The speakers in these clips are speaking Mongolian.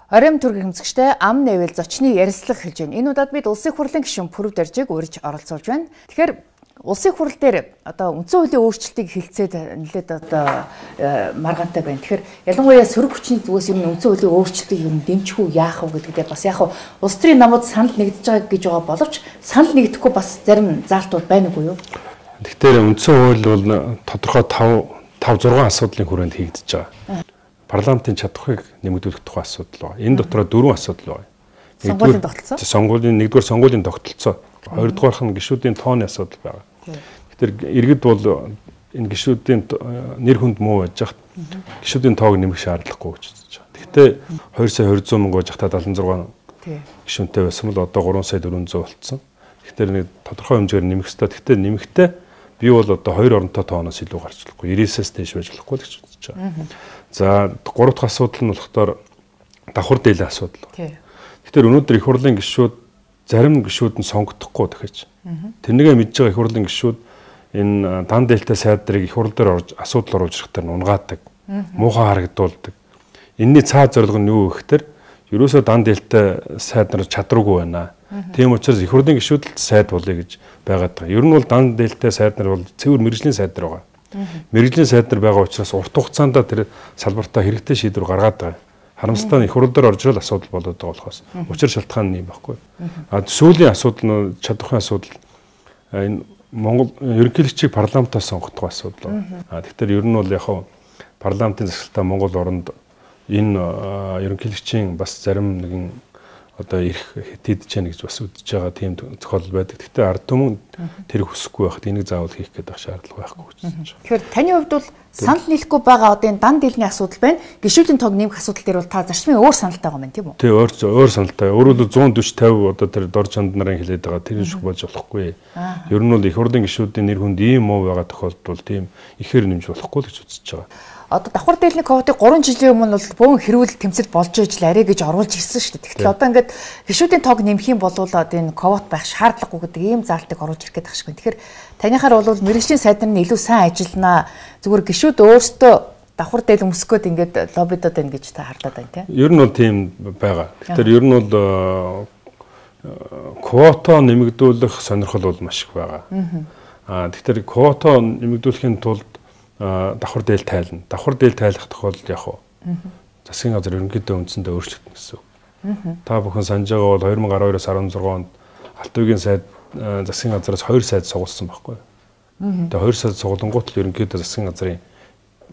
Оройн төргийн хэмжигчтэй ам нэвэл зочны ярилцлага хэлж байна. Энэ удаад бид улсын хурлын гишүүн Пүрэв Даржийг урьж оролцуулж байна. Тэгэхээр улсын хурал дээр одоо үндсэн хуулийн өөрчлөлтийг хэлцээд нэлээд одоо маргаантай байна. Тэгэхээр ялангуяа сөрөг хүчний зүгээс ер нь үндсэн хуулийн өөрчлөлтийг ер нь дэмжих үү яах вэ гэдэгтээ бас яг улс төрийн намууд санал нэгдэж байгаа гэж байгаа боловч санал нэгдэхгүй бас зарим заалтууд байна уу юу? Тэгэхээр үндсэн хууль бол тодорхой 5-6 асуудлын хүрээнд хийгдэж байгаа. Парламентын чадхыг нэмэгдүүлэх тухай асуудал байна. Энэ дотроо 4 асуудал байна. Сонгуулийн тогтолцоо. Сонгуулийн 1-р сонгуулийн тогтолцоо, 2-дугаарх нь гишүүдийн тооны асуудал байна. Тэгэхээр иргэд бол энэ гишүүдийн нэр хүнд муу байж хат гишүүдийн тоог нэмэх шаардлагагүй гэж үзэж байгаа. Гэхдээ 2 сая 200 мянга байж хата 76 гишүүнтэй байсан бол одоо 3 сая 400 болцсон. Тэгэхээр нэг тодорхой хэмжээгээр нэмэх хэрэгтэй. Гэхдээ нэмэхдээ би бол одоо 2 оронтой тооноос илүү гарч болохгүй. 90-ээс дээш байж болохгүй гэж үзэж байгаа. За 3 дахь асуудал нь болохоор давхар дээлийн асуудал. Тэгэхээр өнөөдөр их хурлын гишүүд зарим гишүүд нь сонгогдохгүй дахиж. Тэрнийгээ мэдж байгаа их хурлын гишүүд энэ дан дээлтэй сайдрыг их хурл дээр орж асуудал оруулж ирэхдээ унгаадаг, муухай харагдуулдаг. Энийний цаад зорилго нь юу гэхээр ерөөсөө дан дээлтэй сайд нар чадваргүй байна. Тийм учраас их хурлын гишүүд л сайд болъё гэж байгаад байгаа. Ер нь бол дан дээлтэй сайд нар бол цэвэр мэргэжлийн сайд нар байгаа. Мэргэжлийн сайд нар байгаа учраас урт хугацаанд тэр салбартаа хэрэгтэй шийдвэр гаргаад байгаа. Харамсалтай нь их хурл дээр орж ирэл асуудал болоод байгаа болохоос учир шалтгаан нь юм байхгүй. Сүүлийн асуудал нь чадвархын асуудал энэ Монгол ерөнхийлөгчийг парламентаас сонгох асуудал. Тэгэхээр ер нь бол яг парламентын засаглалтаа Монгол оронд энэ ерөнхийлөгчийн бас зарим нэгэн одоо ирэх хэдийдэж яах гэж бас үдэж байгаа тийм тохиолдол байдаг. Гэхдээ ард түмэн тэр хүсэхгүй байхад энийг заавал хийх гэдэг шаардлага байхгүй гэж байна. Тэгэхээр таны хувьд бол санал нийлэхгүй байгаа одоо энэ дан дийлний асуудал байна. Гишүүдийн тоог нэмэх асуудал дээр бол та зарчмын өөр саналтай байгаа юм тийм үү? Тий, өөр саналтай. Өөрөөр 140-50 одоо тэр дор чанд нарын хэлээд байгаа тэр шиг болж болохгүй. Ер нь бол их хурлын гишүүдийн нэр хүнд ийм муу байгаа тохиолдолд тийм ихээр нэмж болохгүй л гэж үзэж байгаа. Одоо давхар дээлний ковотыг 3 жилийн өмнө бол бөөн хэрүүл тэмцэл болж иж л арай гэж оруулж ирсэн шүү дээ. Тэгтэл одоо ингээд гишүүдийн тоог нэмэх юм бол одоо энэ ковот байх шаардлагагүй гэдэг ийм заалтыг оруулж ирэх гэдэг шиг байна. Тэгэхээр танихаар бол мэргэжлийн сайд нар нь илүү сайн ажилланаа. Зүгээр гишүүд өөрсдөө давхар дээл өмсгөөд ингээд лоббидод байна гэж та хардаад байна тийм. Ер нь бол тийм байгаа. Тэгэхээр ер нь бол квота нэмэгдүүлэх сонирхол бол маш их байгаа. Тэгэхээр квота нэмэгдүүлэхийн тулд давхар дээл тайлна. Давхар дээл тайлах тохиолдолд яг засгийн газар ерөнхийдөө үндсэндээ өөрчлөгдөн гэсэн үг. Та бүхэн санаж байгаа бол 2012-оос 16 онд Алт үеийн сайд засгийн газараас 2 сайд сугалсан байхгүй. Тэгээ 2 сайд сугалангуут л ерөнхийдөө засгийн газрын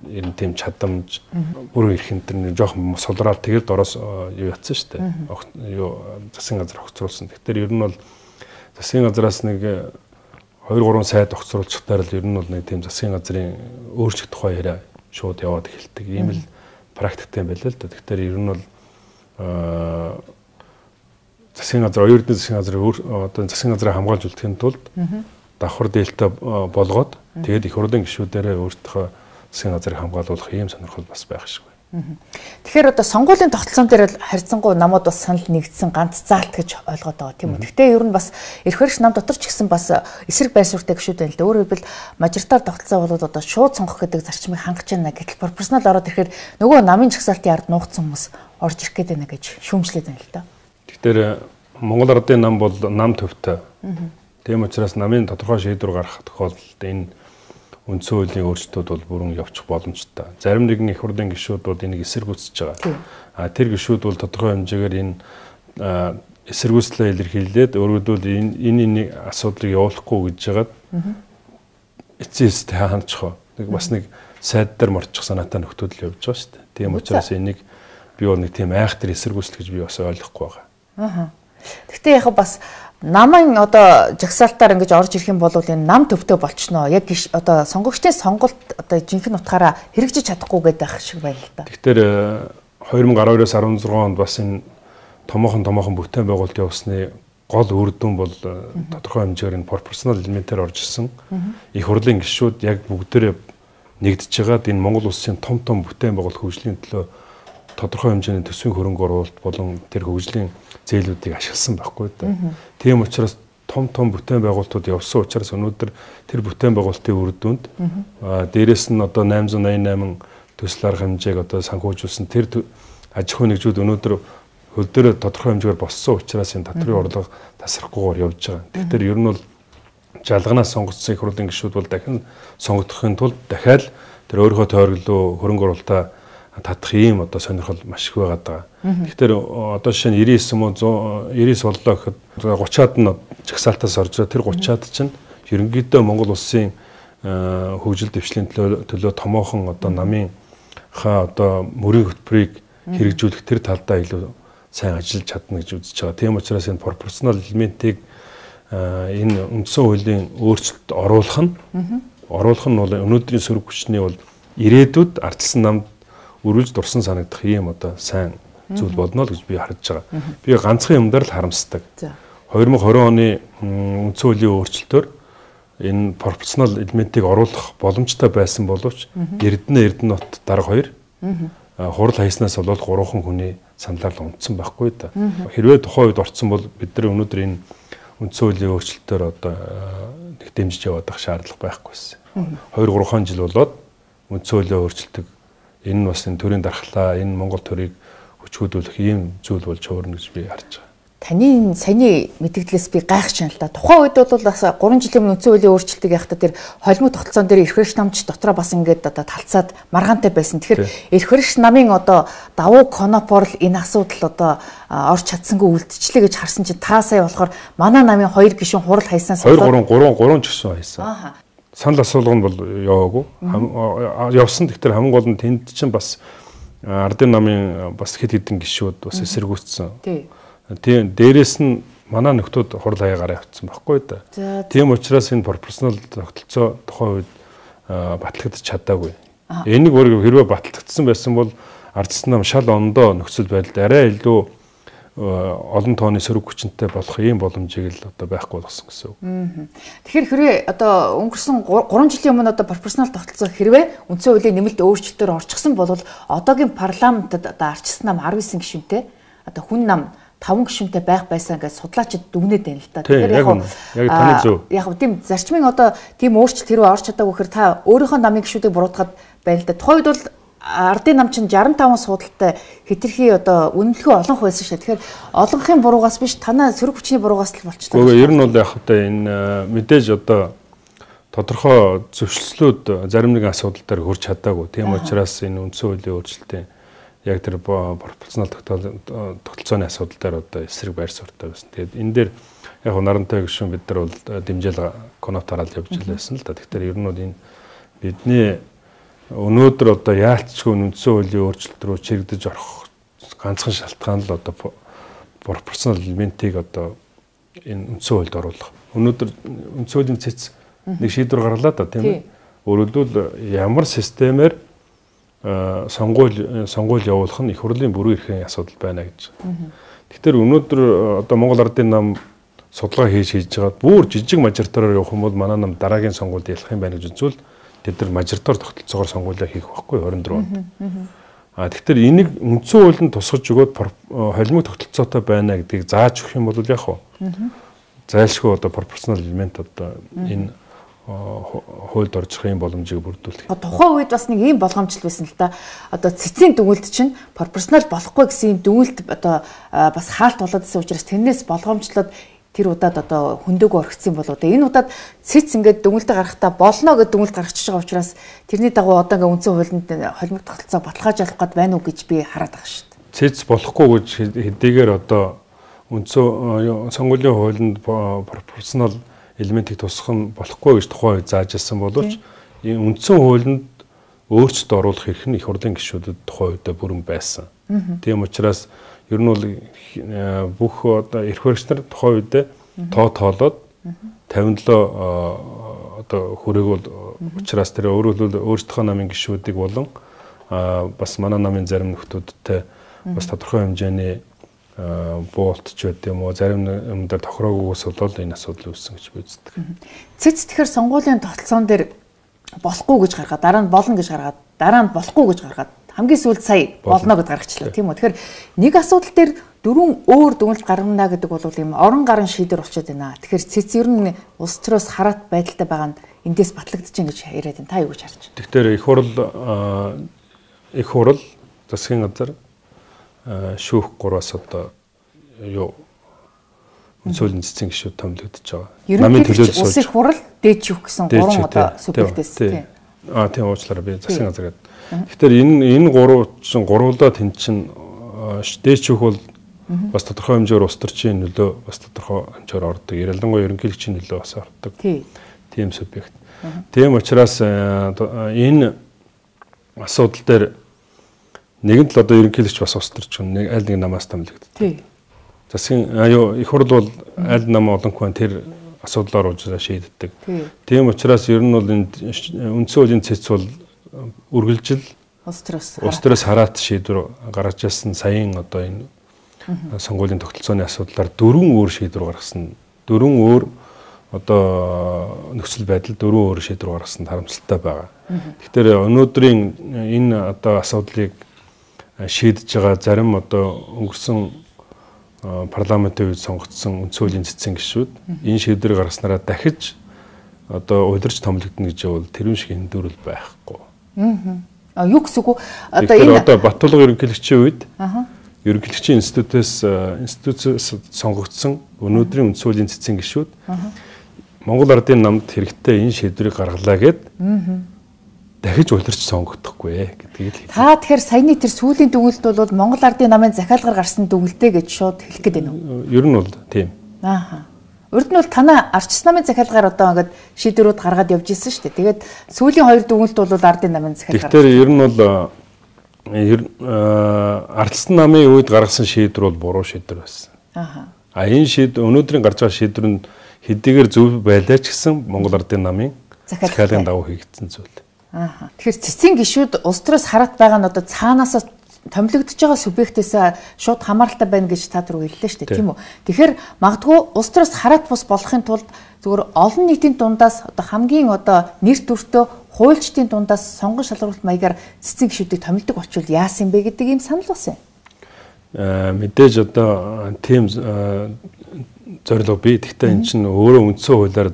ер нь тийм чадамж бүрэн эрх энэ жоохон сулраад тэгээд дороос юу ятсан шүү дээ. Юу засгийн газар огцруулсан. Тэгэхээр ер нь бол засгийн газараас нэг 2-3 сайд огцруулчихтаар л ер нь бол нэг тийм засгийн газрын өөрчлөлт тухай яриа шууд яваад эхэлдэг. Ийм л практиктэй байлаа л да. Тэгэхээр ер нь бол засгийн газар оюутны засгийн газрын одоо засгийн газрыг хамгаалж үлдэхийн тулд давхар дээлтэй болгоод тэгээд их хурлын гишүүдээрээ өөртөө засгийн газрыг хамгаалуулах ийм сонирхол бас байх шиг байна. Тэгэхээр одоо сонгуулийн тогтолцоон дээр харьцангуй намууд бас санал нэгдсэн ганц заалт гэж ойлгоод байгаа тийм үү. Гэхдээ ер нь бас эрх баригч нам дотор ч гэсэн бас эсрэг байр суурьтай гишүүд байна л да. Өөрөөр хэлбэл мажоритар тогтолцоо бол одоо шууд сонгох гэдэг зарчмыг хангаж байна. Гэтэл пропорционал ороод ирэхээр нөгөө намын жагсаалтын ард нуугдсан хүмүүс орж ирэх гээд байна гэж шүүмжлээд байна л да. Тэгэхээр Монгол Ардын нам бол нам төвтэй. Тийм учраас намын тодорхой шийдвэр гаргах тохиолдолд энэ үндсэн хуулийн өөрчлөлтүүд бол бүрэн явчих боломжтой. Зарим нэгэн их хурлын гишүүд бол энийг эсэргүүцэж байгаа. Тэр гишүүд бол тодорхой хэмжээгээр энэ эсэргүүцлээ илэрхийлээд өөрөөр энэ асуудлыг явуулахгүй гэж яагаад эцэст хаачих вэ? Бас нэг сайд дээр морчих санаатай нөхцөл явж байгаа шүү дээ. Тийм учраас энийг би бол нэг тийм айхтар эсэргүүцэл гэж би бас ойлгохгүй байгаа. Гэхдээ яг бас намын одоо жагсаалтаар ингэж орж ирэх юм бол энэ нам төвтэй болчихноо. Яг одоо сонгогчдын сонголт одоо жинхэнэ утгаараа хэрэгжиж чадахгүй гэдэг шиг байна л да. Тэгэхээр 2012-оос 16 онд бас энэ томоохон бүтээн байгуулалт явуулсны гол үр дүн бол тодорхой хэмжээгээр энэ пропорционал элементээр орж ирсэн. Их хурлын гишүүд яг бүгдээрээ нэгдэж байгаад энэ Монгол улсын том бүтээн байгуулалт хөгжлийн төлөө тодорхой хэмжээний төсвийн хөрөнгө оруулалт болон тэр хөгжлийн зээлүүдийг ашигласан байхгүй да. Тийм учраас том бүтээн байгуулалтууд явсан учраас өнөөдөр тэр бүтээн байгуулалтын үр дүнд дээрэс нь одоо 888 төсөл арга хэмжээг одоо санхүүжүүлсэн тэр аж ахуйн нэгжүүд өнөөдөр хөл дээр тодорхой хэмжээгээр боссон учраас энэ татврын орлого тасрахгүйгээр явж байгаа. Тэгэхээр ер нь бол жалганаас сонгогдсон их хурлын гишүүд бол дахин сонгогдохын тулд дахиад тэр өөрийнхөө тойрглоо хөрөнгө оруулалтаа татах ийм одоо сонирхол маш их байгаад байгаа. Тэгэхээр одоо жишээ нь 99 мөн 99 боллоо гэхэд 30-аад нь жагсаалтаас орж байгаа. Тэр 30-аад чинь ерөнхийдөө Монгол улсын хөгжил дэвшлийн төлөө томоохон одоо намынхаа одоо мөрийн хөтөлбөрийг хэрэгжүүлэх тэр талдаа илүү сайн ажиллаж чадна гэж үзэж байгаа. Тийм учраас энэ пропорционал элементийг энэ үндсэн хуулийн өөрчлөлт оруулах нь бол өнөөдрийн сөрөг хүчний бол ирээдүйд ардчилсан намд өрүүлж дурсан санагдах ийм одоо сайн зүйл болно л гэж би харж байгаа. Би ганцхан юмдаар л харамсдаг. 2020 оны үндсэн хуулийн өөрчлөлтөөр энэ пропорционал элементийг оруулах боломжтой байсан боловч Эрдэнэт дарга 2 хурал хайснаас бол 3 хүний саналаар унтсан байхгүй да. Хэрвээ тухайн үед орцсон бол бид нар өнөөдөр энэ үндсэн хуулийн өөрчлөлтөөр одоо нэг дэмжиж яваад байх шаардлага байхгүйсэн. 2-3 жил болоод үндсэн хуулийн өөрчлөлтөд энэ нь бас энэ төрийн дархлаа, энэ Монгол төрийг хүчгүүдүүлэх ийм зүйл болж хуурна гэж би харж байгаа. Таны саяны мэдгдлээс би гайхаж байна л да. Тухайн үед бол бас 3 жилийн өмнө үндсэн хуулийн өөрчлөлтийг яхад тэр холимог тогтолцоон дээр эрх баригч намч дотроо бас ингээд одоо талцаад маргаантай байсан. Тэгэхээр эрх баригч намын одоо давуу конопор л энэ асуудал одоо орж чадсангүй үлдчихлээ гэж харсан чинь та сая болохоор манай намын 2 гишүүн хурал хайснаас 2 3 гишүүн хайсан. Санал асуулга нь бол яваагүй. Явсан гэхдээ хамгийн гол нь тэнд чинь бас ардын намын бас хэд хэдэн гишүүд бас эсэргүүцсэн. Тийм дээрээс нь манай нөхдүүд хурал хаягаар явцсан байхгүй да. Тийм учраас энэ пропорционал тогтолцоо тухайн үед батлагдаж чадаагүй. Энийг хэрвээ батлагдсан байсан бол ардчилсан нам шал ондоо нөхцөл байдалд арай илүү олон тооны сөрөг хүчинтэй болох ийм боломжийг л одоо байхгүй болгосон гэсэн үг. Тэгэхээр хэрвээ одоо өнгөрсөн 3 жилийн өмнө одоо пропорционал тогтолцоо хэрвээ үндсэн хуулийн нэмэлт өөрчлөлтөөр орчихсон бол одоогийн парламентод одоо ардчилсан нам 19 гишүүнтэй одоо хүн нам 5 гишүүнтэй байх байсан гэж судлаачид дүгнээд байна л да. Тэгэхээр яг тийм зарчмын одоо тийм өөрчлөлт хэрвээ орж чадаагүй гэхээр та өөрийнхөө намын гишүүдийг буруутгаад байна л да. Тухайн үед бол ардын нам чинь 65 суудалтай хэтэрхий одоо үнэлэхүй олон байсан шээ. Тэгэхээр олонхын буруугаас биш танаа сөрөг хүчний буруугаас л болчихлоо. Үгүй ер нь бол яг хэвээр энэ мэдээж одоо тодорхой зөвшөлтслүүд зарим нэгэн асуудал дээр хүрч чадаагүй. Тийм учраас энэ үндсэн хуулийн өөрчлөлтийн яг тэр пропорционал тогтолцооны асуудал дээр одоо эсрэг байр суурьтай байсан. Тэгээд энэ дээр яг нарантай гишүүн бид нар бол дэмжээл конотараад явж байсан л да. Тэгэхээр ер нь бол энэ бидний өнөөдөр одоо яалтчгүй үндсэн хуулийн өөрчлөлт рүү чирэгдэж орох ганцхан шалтгаан л одоо пропорционал элементийг одоо энэ үндсэн хуульд оруулах. Өнөөдөр үндсэн хуулийн цэц нэг шийдвэр гарлаа да тийм ээ. Өөрөлдвөл ямар системээр сонгуул явуулах нь их хурлын бүрэн эрхийн асуудал байна гэж. Тэгэхээр өнөөдөр одоо Монгол Ардын нам судалгаа хийж байгаа бүр жижиг мажоритараар явах юм бол манай нам дараагийн сонгуульд ялах юм байна гэж үзвэл тэд нар мажоритар тогтолцоогоор сонгуулиа хийх байхгүй 24 онд. Тэгэхээр энийг үндсэн хуулинд тусгаж өгөөд холимог тогтолцоотой байна гэдгийг зааж өгөх юм бол яг зайлшгүй одоо пропорционал элемент одоо энэ хуульд оржих юм боломжийг бүрдүүлэх. Тухайн үед бас нэг ийм болгоомжтой байсан л да. Одоо цэцгийн дүгнэлт чинь пропорционал болохгүй гэсэн юм дүгнэлт одоо бас хаалт болоод байсан учраас тэрнээс болгоомжлоод тэр удаад одоо хөндөөгөө орхицсан болоо. Энэ удаад цэц ингээд дүгнэлтэ гаргахтаа болно гэдэг дүгнэлт гаргачихж байгаа учраас тэрний дагуу одоо ингээд үндсэн хуулинд холимог тогтолцоо баталгаажуулах гээд байна уу гэж би хараад байгаа шүү дээ. Цэц болохгүй гэж хэдийгээр одоо үндсэн сонгуулийн хуулинд пропорционал элементийг тусах нь болохгүй гэж тухайн үед зааж ирсэн боловч энэ үндсэн хуулинд өөрчлөлт оруулах эрх нь их хурлын гишүүдэд тухайн үедээ бүрэн байсан. Тийм учраас ер нь бол бүх одоо эрх баригч нар тухайн үедээ тоолоод 57 одоо хүрээгүүл учраас тэр өөрөөр өөрсдийнхөө намын гишүүдийг болон бас манай намын зарим нөхдүүдтэй бас тодорхой хэмжээний болтч байт юм уу зарим юм дээр тохироогоос болоод энэ асуудал үүссэн гэж би үздэг. Цэц тэгэхээр сонгуулийн тогтолцоон дээр болохгүй гэж гаргаад дараа нь болно гэж гаргаад дараа нь болохгүй гэж гаргаад хамгийн сүүлд сая болно гэж гаргачлаа тийм үү. Тэгэхээр нэг асуудал дээр 4 өөр дүгнэлт гаргана гэдэг бол юм орон гарын шийдвэр болчиход байна. Тэгэхээр цэц ер нь улс төрөөс хараат байдалтай байгаа нь эндээс батлагдчихээн гэж яриад байна. Та юу гэж харж байна? Тэгэхээр их хурал засгийн газар шүүх 3-аас одоо юу үндсөлийн цэцэн гишүүд томилогдож байгаа. Намын төлөөлөл улсын хурал дээд шүүх гэсэн 3 одоо субъектээс тийм. Тийм уучлаарай би засгийн газар гэдэг. Тэгэхээр энэ 3 чинь гуруулаа тэн чин дээд шүүх бол бас тодорхой хэмжээр улс төрчийн нөлөө бас тодорхой хэмжээр ордог. Ялангуяа ерөнхийлөгчийн нөлөө бас ордог. Тийм субъект. Тийм учраас энэ асуудал дээр нэгэнт л одоо ерөнхийлөгч бас улс төрч нэг аль нэг намаас томилогддог. Засгийн их хурл бол аль нам олонхоо тэр асуудлаар уужраа шийддэг. Тийм учраас ер нь бол үндсэн хуулийн цэц бол үргэлжил улс төрөөс хараат шийдвэр гаргаж ирсэн саяын одоо энэ сонгуулийн тогтолцооны асуудлаар 4 өөр шийдвэр гаргасан. 4 өөр одоо нөхцөл байдал 4 өөр шийдвэр гаргасан харамсалтай байгаа. Тэгэхээр өнөөдрийн энэ одоо асуудлыг шийдэж байгаа зарим одоо өнгөрсөн парламентын үед сонгогдсон үндсэн хуулийн цэцэн гишүүд энэ шийдвэрийг гаргаснараа дахиж одоо удирч томилогдно гэж бол тэрүүн шиг эндүүрэл байхгүй. Юу гэсэн үг одоо энэ одоо Баттулга ерөнхийлөгчийн үед ерөнхийлөгчийн институцээс сонгогдсон өнөөдрийн үндсэн хуулийн цэцэн гишүүд Монгол Ардын намд хэрэгтэй энэ шийдвэрийг гаргалаа гэд дахиж удирч сонгогдохгүй гэдгийг л хэлээ. Та тэгэхээр саяны тэр сүүлийн дүгнэлт бол Монгол Ардын намын захиалгаар гарсан дүгнэлтээ гэж шууд хэлэх гээд байна уу? Ер нь бол тийм. Урд нь бол танаа арчсан намын захиалгаар одоо ингээд шийдвэрүүд гаргаад явж исэн шүү дээ. Тэгээд сүүлийн 2 дүгнэлт бол Ардын намын захиалгаар. Тэгэхээр ер нь бол арчсан намын үед гаргасан шийдвэр бол буруу шийдвэр байсан. Энэ өнөөдрийн гарч байгаа шийдвэр нь хэдийгээр зөв байлаа ч гэсэн Монгол Ардын намын захиалгын дагуу хийгдсэн зүйл. Тэгэхээр цэцэн гишүүд улс төрөөс хараат байгаа нь одоо цаанаасаа томилогдож байгаа субъектээс шууд хамааралтай байна гэж та түрүү хэллээ шүү дээ, тийм үү? Тэгэхээр магадгүй улс төрөөс хараат бус болохын тулд зөвхөн олон нийтийн дундаас одоо хамгийн одоо нэр төртөө хуульчдын дундаас сонгон шалгаруулалт маягаар цэцэн гишүүдийг томилдог болчвол яасан бэ гэдэг ийм санал бас байна. Мэдээж одоо тийм зорилго бий. Гэхдээ эн чинь өөрөө үндсэн хуулиар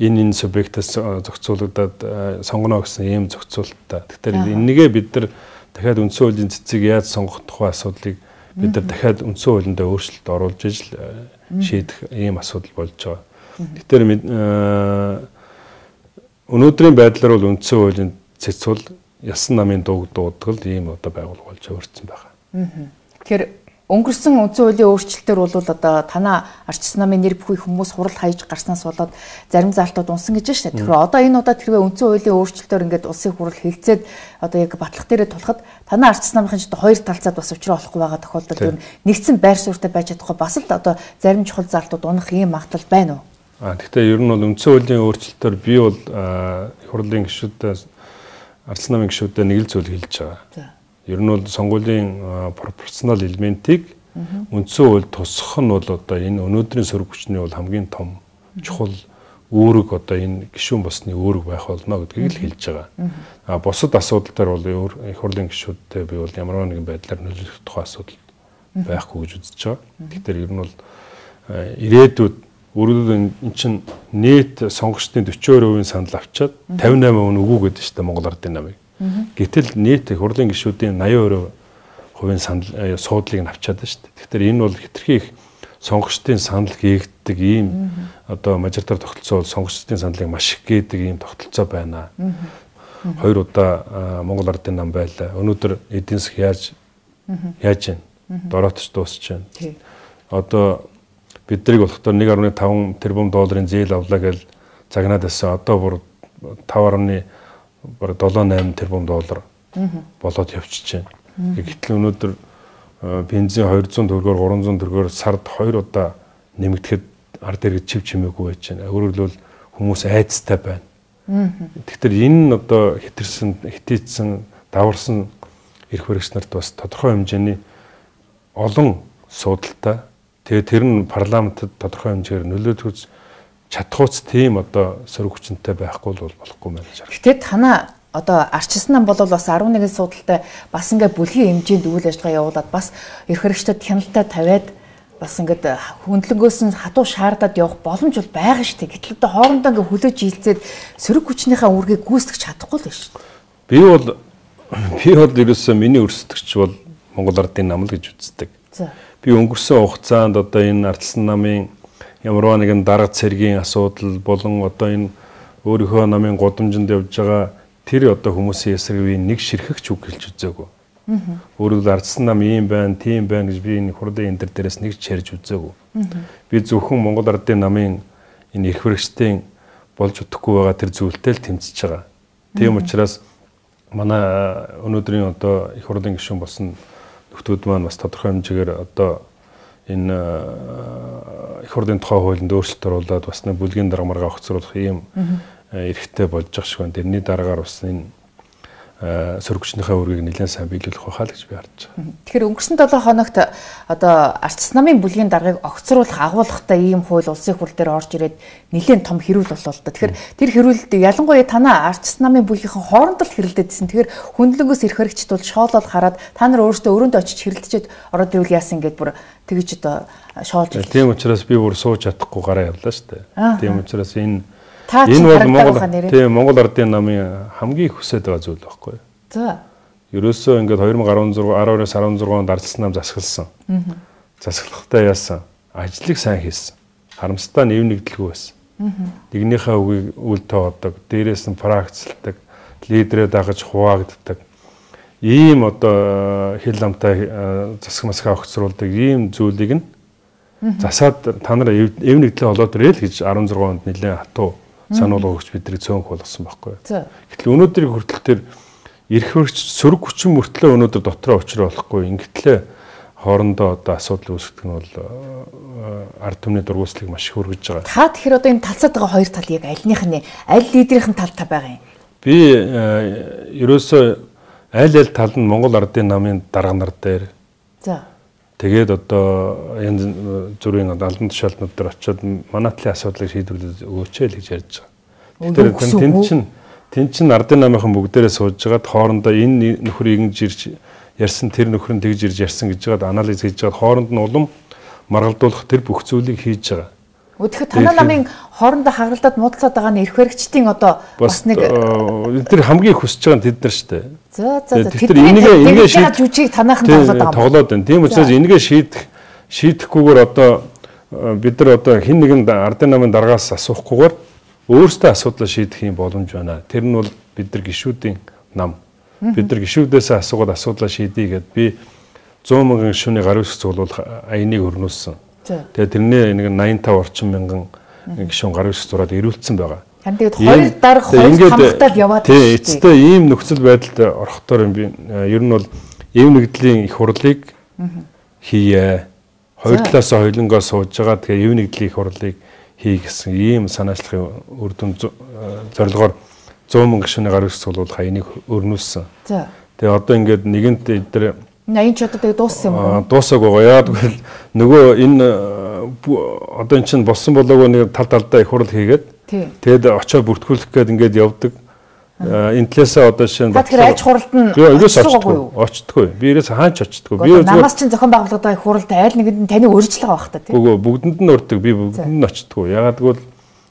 энэ субъектээс зохицуулагдаад сонгоно гэсэн ийм зохицуулалттай. Тэгэхээр энэгээ бид нар дахиад үндсэн хуулийн цэцгийг яаж сонгох тухай асуудлыг бид нар дахиад үндсэн хуулиндаа өөрчлөлт оруулж ижил шийдэх ийм асуудал болж байгаа. Тэгэхээр өнөөдрийн байдлаар бол үндсэн хуулийн цэц бол ялсан намын дуудгал ийм одоо байгуулга болж өөрчлөсөн байгаа. Тэгэхээр өнгөрсөн үндсэн хуулийн өөрчлөлтөөр бол одоо танаа арчсан намын нэр бүхий хүмүүс хурал хаяж гарснаас болоод зарим заалтууд унсан гэж байна шүү дээ. Тэгэхээр одоо энэ удаад хэрвээ үндсэн хуулийн өөрчлөлтөөр ингээд улсын хурал хилцээд одоо яг батлах дээрээ тулахад танаа арчсан намын ч хоёр талцаад бас учраа болохгүй байгаа тохиолдолд ер нь нэгдсэн байр суурьтай байж чадахгүй бас л одоо зарим чухал заалтууд унах ийм магадлал байна уу? Гэхдээ ер нь бол үндсэн хуулийн өөрчлөлтөөр би бол хурлын гишүүдээ арчсан намын гишүүдээ нэг л зүйл хэлж байгаа. Ер нь бол сонгуулийн пропорционал элементийг үндсэн хууль тусгах нь бол одоо энэ өнөөдрийн сөрөг хүчний бол хамгийн том чухал үүрэг одоо энэ гишүүн босны үүрэг байх болно гэдгийг л хэлж байгаа. Бусад асуудал дээр бол их хурлын гишүүдтэй би бол ямар нэгэн байдлаар нөлөөлөх тухай асуудал байхгүй гэж үзэж байгаа. Тэгэхээр ер нь бол ирээдүйд өөрөлд эн чинь нийт сонгогчдын 42% санал авчаад 58% үгүй гэдэг шүү дээ Монгол Ардын намыг. Гэтэл нийт хурлын гишүүдийн 80% санал суудлыг нь авчаад байна шүү дээ. Тэгэхээр энэ бол хэтэрхий их сонгогчдын санал гээгддэг ийм одоо мажоритар тогтолцоо бол сонгогчдын саналыг маш их гээдэг ийм тогтолцоо байна. 2 удаа Монгол Ардын нам байлаа. Өнөөдөр эдийн засаг яаж байна? Дороотч дуусч байна. Одоо биднийг болохдоо 1.5 тэрбум долларын зээл авлаа гэж загнаад байсан. Одоо бүр 5.7-8 тэрбум доллар болоод явчихж байна. Гэтэл өнөөдөр бензин 200 төгрөгөөр 300 төгрөгөөр сард 2 удаа нэмэгдэхэд ард иргэд чив чимээгүй байж байна. Өөрөөр хэлбэл хүмүүс айцтай байна. Тэгэхээр энэ нь одоо хитээцсэн даварсан эрх баригч нарт бас тодорхой хэмжээний олон суудалтай. Тэгээ тэр нь парламентд тодорхой хэмжээгээр нөлөөлж чадхууц тийм одоо сөрөг хүчнтэй байхгүй бол болохгүй байна. Гэтэ танаа одоо арчсан нам бол бас 11 судалтай бас ингээ бүлгийн хэмжээнд үйл ажиллагаа явуулаад бас эрх баригчдад хяналтаа тавиад бас ингээд хөндлөнгөөс нь хатуу шаардаад явах боломж бол байгаа шүү дээ. Гэтэл одоо хоорондоо ингээ хөлөөж хилцээд сөрөг хүчнийхээ үргийг гүйцэтгэж чадахгүй л байна шүү дээ. Би бол ерөөсөө миний өрсөлдөгч бол Монгол Ардын нам л гэж үздэг. Би өнгөрсөн хугацаанд одоо энэ Ардчилсан намын ямарваа нэгэн дарга цэргийн асуудал болон одоо энэ өөрийнхөө намын гудамжинд явж байгаа тэр одоо хүмүүсийн эсрэг нэг ширхэгч үг хэлж үзээгүй. Өөрөөр Ардчилсан нам ийм байна, тийм байна гэж би энэ хурлын энэ дээрээс нэг ч ярьж үзээгүй. Би зөвхөн Монгол Ардын намын энэ эрх хэрэгчдийн болж өгөхгүй байгаа тэр зүйлтэй л тэмцэж байгаа. Тийм учраас манай өнөөдрийн одоо их хурлын гишүүн болсон нөхдүүд маань бас тодорхой хэмжээгээр одоо энэ их хурлын тухай хуулинд өөрчлөлт оруулаад бас нэг бүлгийн дарга маргаа огцруулах ийм эрхтэй болж байгаа шиг байна. Тэрний дараагаар бас энэ сөрөгчнийхээ үргийг нэлээд сайн биелүүлэх байхаа л гэж би харж байгаа. Тэгэхээр өнгөрсөн 7 хоногт одоо Ардчилсан намын бүлгийн даргаыг огцруулах агуулгатай ийм хууль улсын хурл дээр орж ирээд нэлээд том хэрүүл боллоо л да. Тэгэхээр тэр хэрүүлэлд ялангуяа танаа Ардчилсан намын бүлгийнхэн хоорондоо л хэрэлдээдсэн. Тэгэхээр хүндлэнгөөс ирэх хэрэгчд бол шоолоод хараад та нар өөрсдөө өрөөндөө очиж хэрэлдчихэд ороод ирвэл яасан гэд бүр тэгж одоо шоолж ирсэн. Тийм учраас би бүр сууж чадахгүй гараа явлаа шүү дээ. Тийм учраас энэ бол Монгол Ардын намын хамгийн их хүсэж байгаа зүйл байхгүй. За. Ерөөсөө ингээд 2012-аас 16 онд Ардчилсан нам засагласан. Засаглахдаа яасан? Ажлыг сайн хийсэн. Харамстай нэв нэгдэлгүй байсан. Нэгнийхээ үгийг үл тооддог, дээрээс нь практикэлдэг, лидерээ дагаж хуваагддаг. Ийм одоо хил амтай засаг масгаа огцруулдаг ийм зүйлийг нь засаад та нар эв нэгдлээ олоод ирэл гэж 16 онд нэлээд хатуу сануулга өгч бидний цөөнх болгосон байхгүй. Гэтэл өнөөдрийн хүртэл тэр эрх хэрэгч сөрөг хүчин мөртлөө өнөөдөр дотроо учраа болохгүй. Ингэтлээ хоорондоо одоо асуудал үүсгэх нь бол ард түмний дургуутслыг маш их хүргэж байгаа. Та тэгэхээр одоо энэ талцаад байгаа хоёр тал яг альных нь аль лидерийн тал та байгаа юм? Би ерөөсөө аль тал нь Монгол Ардын намын дарга нар дээр. За. Тэгээд одоо янз бүрийн албан тушаалтнууд дээр очиод манай талын асуудлыг шийдвэрлэж өгөөч л гэж ярьж байгаа. Тэгэхээр тэн чин Ардын намынхан бүгдээрээ сууж байгаад хоорондоо энэ нөхрийг ингэж ирж ярьсан тэр нөхөр нь тэгж ирж ярьсан гэж байгаад анализ хийж байгаад хооронд нь улам маргалдуулах тэр бүх зүйлийг хийж байгаа. Тэгэхээр танай намын хоорондоо хагаралдаад муудалцаад байгаа нь эрх хэрэгчдийн одоо бас нэг тэр хамгийн хүсэж байгаа нь тэд нар шүү дээ. За. Тэр энийг шийдэх жүжиг танайхан тоглоод байна. Тийм учраас энийг шийдэхгүйгээр одоо бид нар одоо хэн нэгэн Ардын намын даргаас асуухгүйгээр өөрсдөө асуудлаа шийдэх юм боломж байна. Тэр нь бол бид нар гишүүдийн нам. Бид нар гишүүдээс асуугаад асуудлаа шийдэе гэд би 100 мянган гишүүний гар үсэг цуглуулах аяныг өрнүүлсэн. Тэгээд тэрний нэг 85 орчим мянган гишүүн гар үсэг зураад ирүүлсэн байгаа. Тэгээд хоёр дарга хоёр хамгаалаад яваад тийм эцэстээ ийм нөхцөл байдалд орохдоор би ер нь бол эв нэгдлийн их хурлыг хийе. Хоёр талаас хоёулангаа сууж байгаа. Тэгээд эв нэгдлийн их хурлыг хий гэсэн ийм санаачлахын үр дүн зорилгоор 100 мянган гишүүний гар үсэг цуглуулах аяныг өрнүүлсэн. Тэгээд одоо ингээд нэгэнт эдгээр 80 ч одоо тэгээ дууссан юм уу? Дуусаагүй байгаа. Яагаад гэвэл нөгөө энэ одоо эн чинь болсон болоогүй нэг талдаа их хурл хийгээд тэгээд очоо бүртгүүлэх гээд ингээд явдаг. Энэ талаасаа одоо жишээ нь тэгэхээр аж хуралд нь очтгүй. Би ирээс хаач очтгүй. Би намаас чинь зохион байгуулагдаад байгаа хуралд аль нэгэнд нь таны урьдчилгаа байх та тийм. Үгүй бүгдэнд нь урддаг. Би бүгдэнд нь очтгүй. Яагаад гэвэл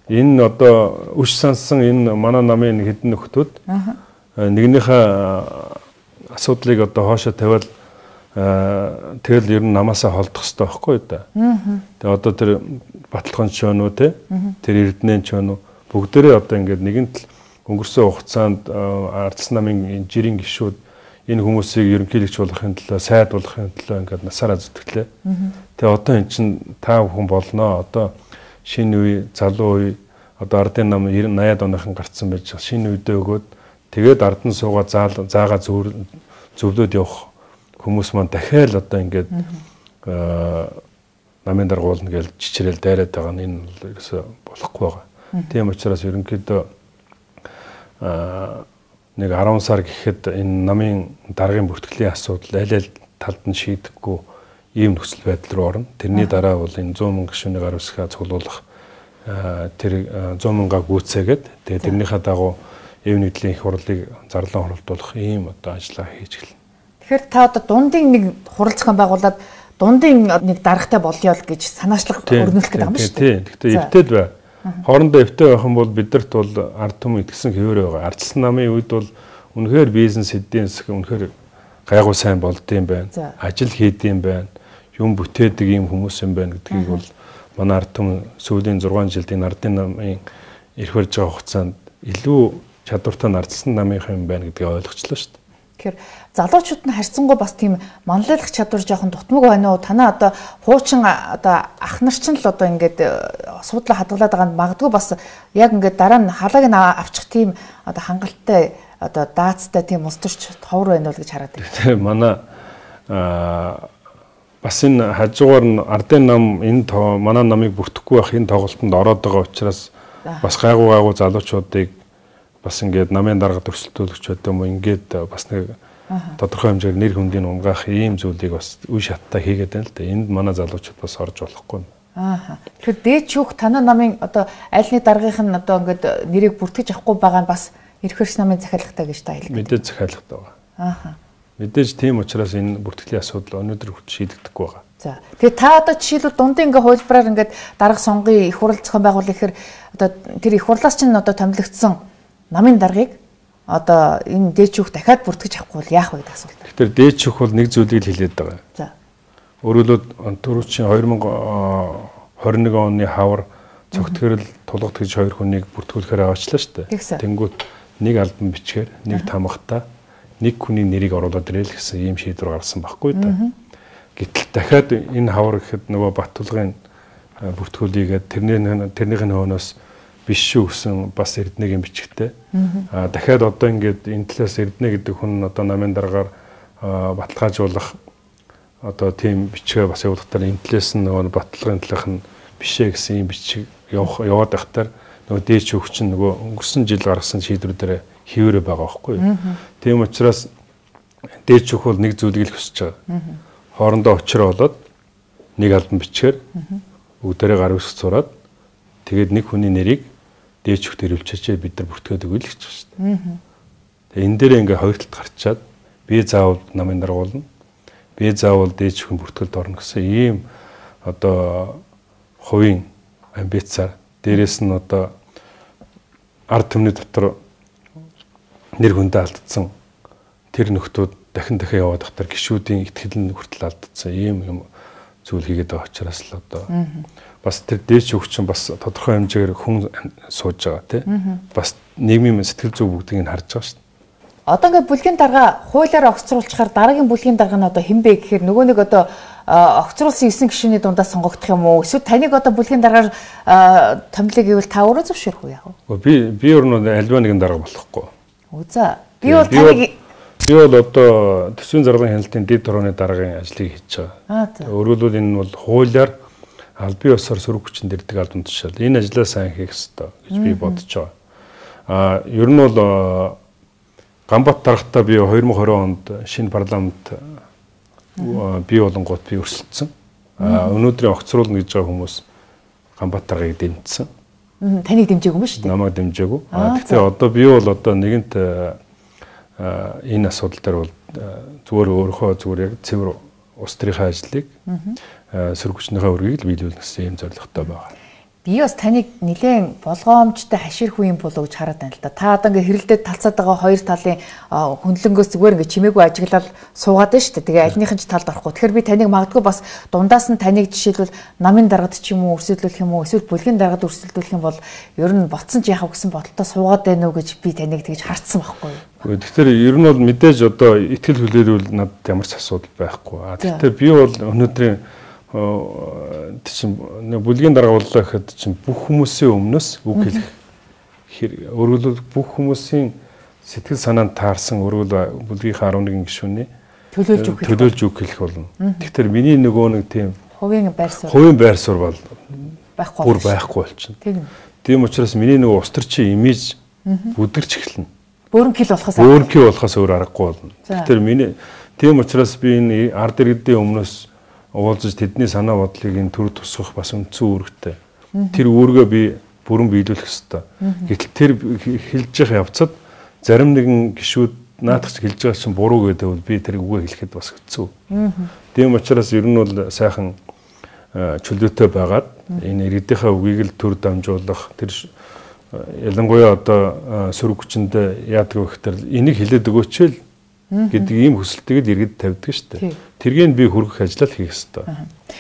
энэ одоо үш сансан энэ манай намын хэдэн нөхдүүд нэгнийхээ асуудлыг одоо хоошоо тавиал тэгэл ер нь намаасаа холдох хэрэгтэй байхгүй да. Тэгээ одоо тэр баталгаан ч байна уу те тэр эрдэнэ ч байна уу бүгдээрээ одоо ингээд нэгэнт өнгөрсөн хугацаанд Ардчилсан намын жирийн гишүүд энэ хүмүүсийг ерөнхийлөгч болохын төлөө сайд болохын төлөө ингээд насаараа зүтгэлээ. Тэгээ одоо эн чин та бүхэн болноо одоо шинэ үе залуу үе одоо Ардын нам 80-аад оныхан гарцсан байж шинэ үедээ өгөөд тэгээд ардан суугаа заагаа зөвлөд явах хүмүүс маань дахиад одоо ингээд намын даргуулна гэж чичрээл дайраад байгаа нь энэ ерөөсө болохгүй байгаа. Тийм учраас ерөнхийдөө нэг 10 сар гэхэд энэ намын даргын бүртгэлийн асуудал аль талд нь шийдэхгүй ийм нөхцөл байдал руу орно. Тэрний дараа бол энэ 100 мянган гишүүний гар үсгээ цуглуулах тэр 100 мянгаа гүйцээгээд тэгээд тэрнийхээ дагуу эв нэгдлийн их хурлыг зарлан хуралдуулах ийм одоо ажиллагаа хийж эхэлнэ. Тэгэхээр та одоо дундын нэг хурал зохион байгуулад дундын нэг даргатай болёо л гэж санаачлах өрнүүлэх гэдэг юм шүү дээ. Гэхдээ эвтэйд бай. Хоорондоо эвтэй байх юм бол бидэрт бол ард түмэн итгэсэн хэвээр байгаа. Ардчилсан намын үед бол үнэхээр бизнес эдийн засаг үнэхээр гайгүй сайн болдсон байна. Ажил хийдэм байна. Юм бүтээдэг юм хүмүүс юм байна гэдгийг бол манай ард түмэн сүүлийн 6 жилд энэ ардын намын ирэх барьж байгаа хугацаанд илүү чадвартай нардсан намынхан юм байна гэдгийг ойлгочлоо шүү дээ. Тэгэхээр залуучууд нь харьцангуй бас тийм манлайлах чадвар жоохон дутмаг байна уу? Танаа одоо хуучин одоо ах нар ч л одоо ингээд суудлаа хадгалаад байгаа нь магадгүй бас яг ингээд дараа нь халааг нь авчих тийм одоо хангалттай одоо даацтай тийм устөрч товор байна уу гэж хараад байна. Тэгээ манай бас энэ хажуугаар нь ардын нам энэ манай намыг бүртгэхгүй байх энэ тоглолтод ороод байгаа учраас бас гайгүй залуучуудыг бас ингээд намын дарга төрсөлтүүлэгч гэдэг юм уу ингээд бас нэг тодорхой хэмжээгээр нэр хүндийг унгаах ийм зүйлийг бас үе шаттай хийгээд байна л да. Энд манай залуучууд бас орж болохгүй. Тэгэхээр дээд шүүх танаа намын одоо айлны даргын нь одоо ингээд нэрийг бүртгэж авахгүй байгаа нь бас эрх хөрс намын захиалгатай гэж та хэлдэг. Мэдээж захиалгатай байгаа. Мэдээж тийм учраас энэ бүртгэлийн асуудал өнөөдөр хүртэл шийдэгдэхгүй байгаа. За. Тэгээ та одоо жишээлбэл дундын ингээ хуулбараар ингээд дарга сонгоё их хурал зохион байгуулах гэхээр одоо тэр их хурлаас чинь одоо томилогдсон намын даргыг одоо энэ дээд шүүх дахиад бүртгэж авахгүй бол яах вэ гэдэг асуулт. Тэгэхээр дээд шүүх бол нэг зүйлийг хэлээд байгаа. За. Өөрөлд түрүүчийн 2021 оны хавар цогтгөрөл тулгад гэж 2 хүнийг бүртгүүлэхээр аваачлаа шүү дээ. Тэнгүүт нэг албан бичгээр, нэг тамгатаа, нэг хүний нэрийг оруулаад ирэл гэсэн ийм шийдвэр гаргасан байхгүй да. Гэтэл дахиад энэ хавар гэхэд нөгөө Баттулгын бүртгүүлийгээд тэрнийхэн хөөнөөс биш шүү гэсэн бас Эрдэнэгийн бичгтээ. Дахиад одоо ингээд энэ талаас Эрдэнэ гэдэг хүн одоо намын дараагаар баталгаажуулах одоо тийм бичгээ бас явуулахтаар энэ талаас нь нөгөө Баттулгын талынх нь бишээ гэсэн юм бичиг яваад байхтаар нөгөө дээд шүүгч нь нөгөө өнгөрсөн жил гаргасан шийдвэрээр хийвэрэ байгаа байхгүй юу. Тийм учраас дээд шүүх бол нэг зүйлийг л хүсэж байгаа. Хоорондоо очроо болоод нэг албан бичгээр бүгдээрээ гар үсгэж зураад тэгээд нэг хүний нэрийг дээд шүүхт ирүүлчихээ бид нар бүртгээд өгье л гэж байна шүү дээ. Тэгээ энэ дээр ингээ хоёр талд гарчаад би заавал намын даргуулна. Би заавал дээд шүүхийн бүртгэлд орно гэсэн ийм одоо хувийн амбицаар дээрээс нь одоо ард түмний дотор нэр хүндээ алдсан тэр нөхдүүд дахин яваад ахтар гишүүдийн ихтгэл нь хүртэл алдсан ийм юм зүйл хийгээд байгаа учраас л одоо бас тэр дээд шүүгч бас тодорхой хэмжээгээр хүн сууж байгаа тийм бас нийгмийн сэтгэл зүй бүгдийг нь харж байгаа шүү дээ. Одоо ингээд бүлгийн дарга хуулиар огцруулчихаар дараагийн бүлгийн дарга нь одоо хэн бэ гэхээр нөгөө нэг одоо огцруулсан 9 гишүүний дундаас сонгогдох юм уу? Эсвэл таныг одоо бүлгийн даргаар томилыг гэвэл та өөрөө зөвшөөрөх үү яах вэ? Би өөр нь альва нэгэн дарга болохгүй. За. Би бол таныг одоо төсвийн зарлагын хяналтын дэд хорооны даргын ажлыг хийж байгаа. Өөрөөр хэлбэл энэ бол хуулиар албан ёсоор сөрөг хүчин дэрдэг албан тушаал. Энэ ажлаа сайн хийх ёстой гэж би бодож байгаа. Ер нь бол Ганбат даргатаа би 2020 онд шинэ парламент бий болонгууд би өрсөлдсөн. Өнөөдрийн огцруулна гэж байгаа хүмүүс Ганбат даргаыг дэмжсэн. Таныг дэмжээгүй юм шүү дээ. Намайг дэмжээгүй. Гэхдээ одоо би бол одоо нэгэнт энэ асуудал дээр бол зүгээр өөрийнхөө зүгээр яг цэвэр улс төрийн ажлыг сөрөг хүчнийхээ өргөгийг л биелүүлэх гэсэн юм зорилготой байгаа. Би бас таныг нэлээд болгоомжтой хаширхгүй юм болов гэж хараад байна л да. Та одоо ингээ хэрэлдээд талцаад байгаа хоёр талын хөндлөнгөөс зүгээр ингээ чимээгүй ажиглал суугаад байна шүү дээ. Тэгээ альнийхэн ч талд орохгүй. Тэгэхээр би таныг магадгүй бас дундаас нь таныг жишээлбэл намын даргад ч юм уу өрсөлдүүлэх юм уу эсвэл бүлгийн даргад өрсөлдүүлэх юм бол ер нь ботсон ч яхав гэсэн бодолтой суугаад байна уу гэж би таныг тэгж хартсан байхгүй юу. Тэгэхээр ер нь бол мэдээж одоо ихтгэл хүлээлүүл надад ямар ч асуудал байхгүй. Тэгэхээр би бол өнөөдрийн бүлгийн дарга боллоо гэхэд чинь бүх хүмүүсийн өмнөөс үг хэлэх хэрэг. Өөрөлд бүх хүмүүсийн сэтгэл санаанд таарсан өөрөлд бүлгийнхаа 11 гишүүний төлөөлж үг хэлэх болно. Тэгэхээр миний нөгөө нэг тийм хувийн байр суурь бол байхгүй болчихно. Тийм учраас миний нөгөө ус төрчийн имиж бүдэрч эхэлнэ. Бөөрнкил болохоос өөр аргагүй болно. Тэгэхээр миний тийм учраас би энэ ард иргэдийн өмнөөс уулзаж тэдний санаа бодлыг энэ төр тусгах бас үндсэн үүрэгтэй. Тэр үүргээ би бүрэн биелүүлэх ёстой. Гэтэл тэр хэлж явах явцад зарим нэгэн гишүүд наадах хэлж байгаа чинь буруу гэдэг би тэр үгээ хэлэхэд бас хэцүү. Тийм учраас ер нь бол сайхан чөлөөтэй байгаад энэ иргэдийнхээ үгийг л төр дамжуулах тэр ялангуяа одоо сөрөг хүчиндээ яадаг вэ гэхээр энийг хэлээд өгөөч л гэдэг ийм хүсэлтийг л иргэд тавьдаг шүү дээ. Тэргийг би хүргэх ажлаа хийх ёстой.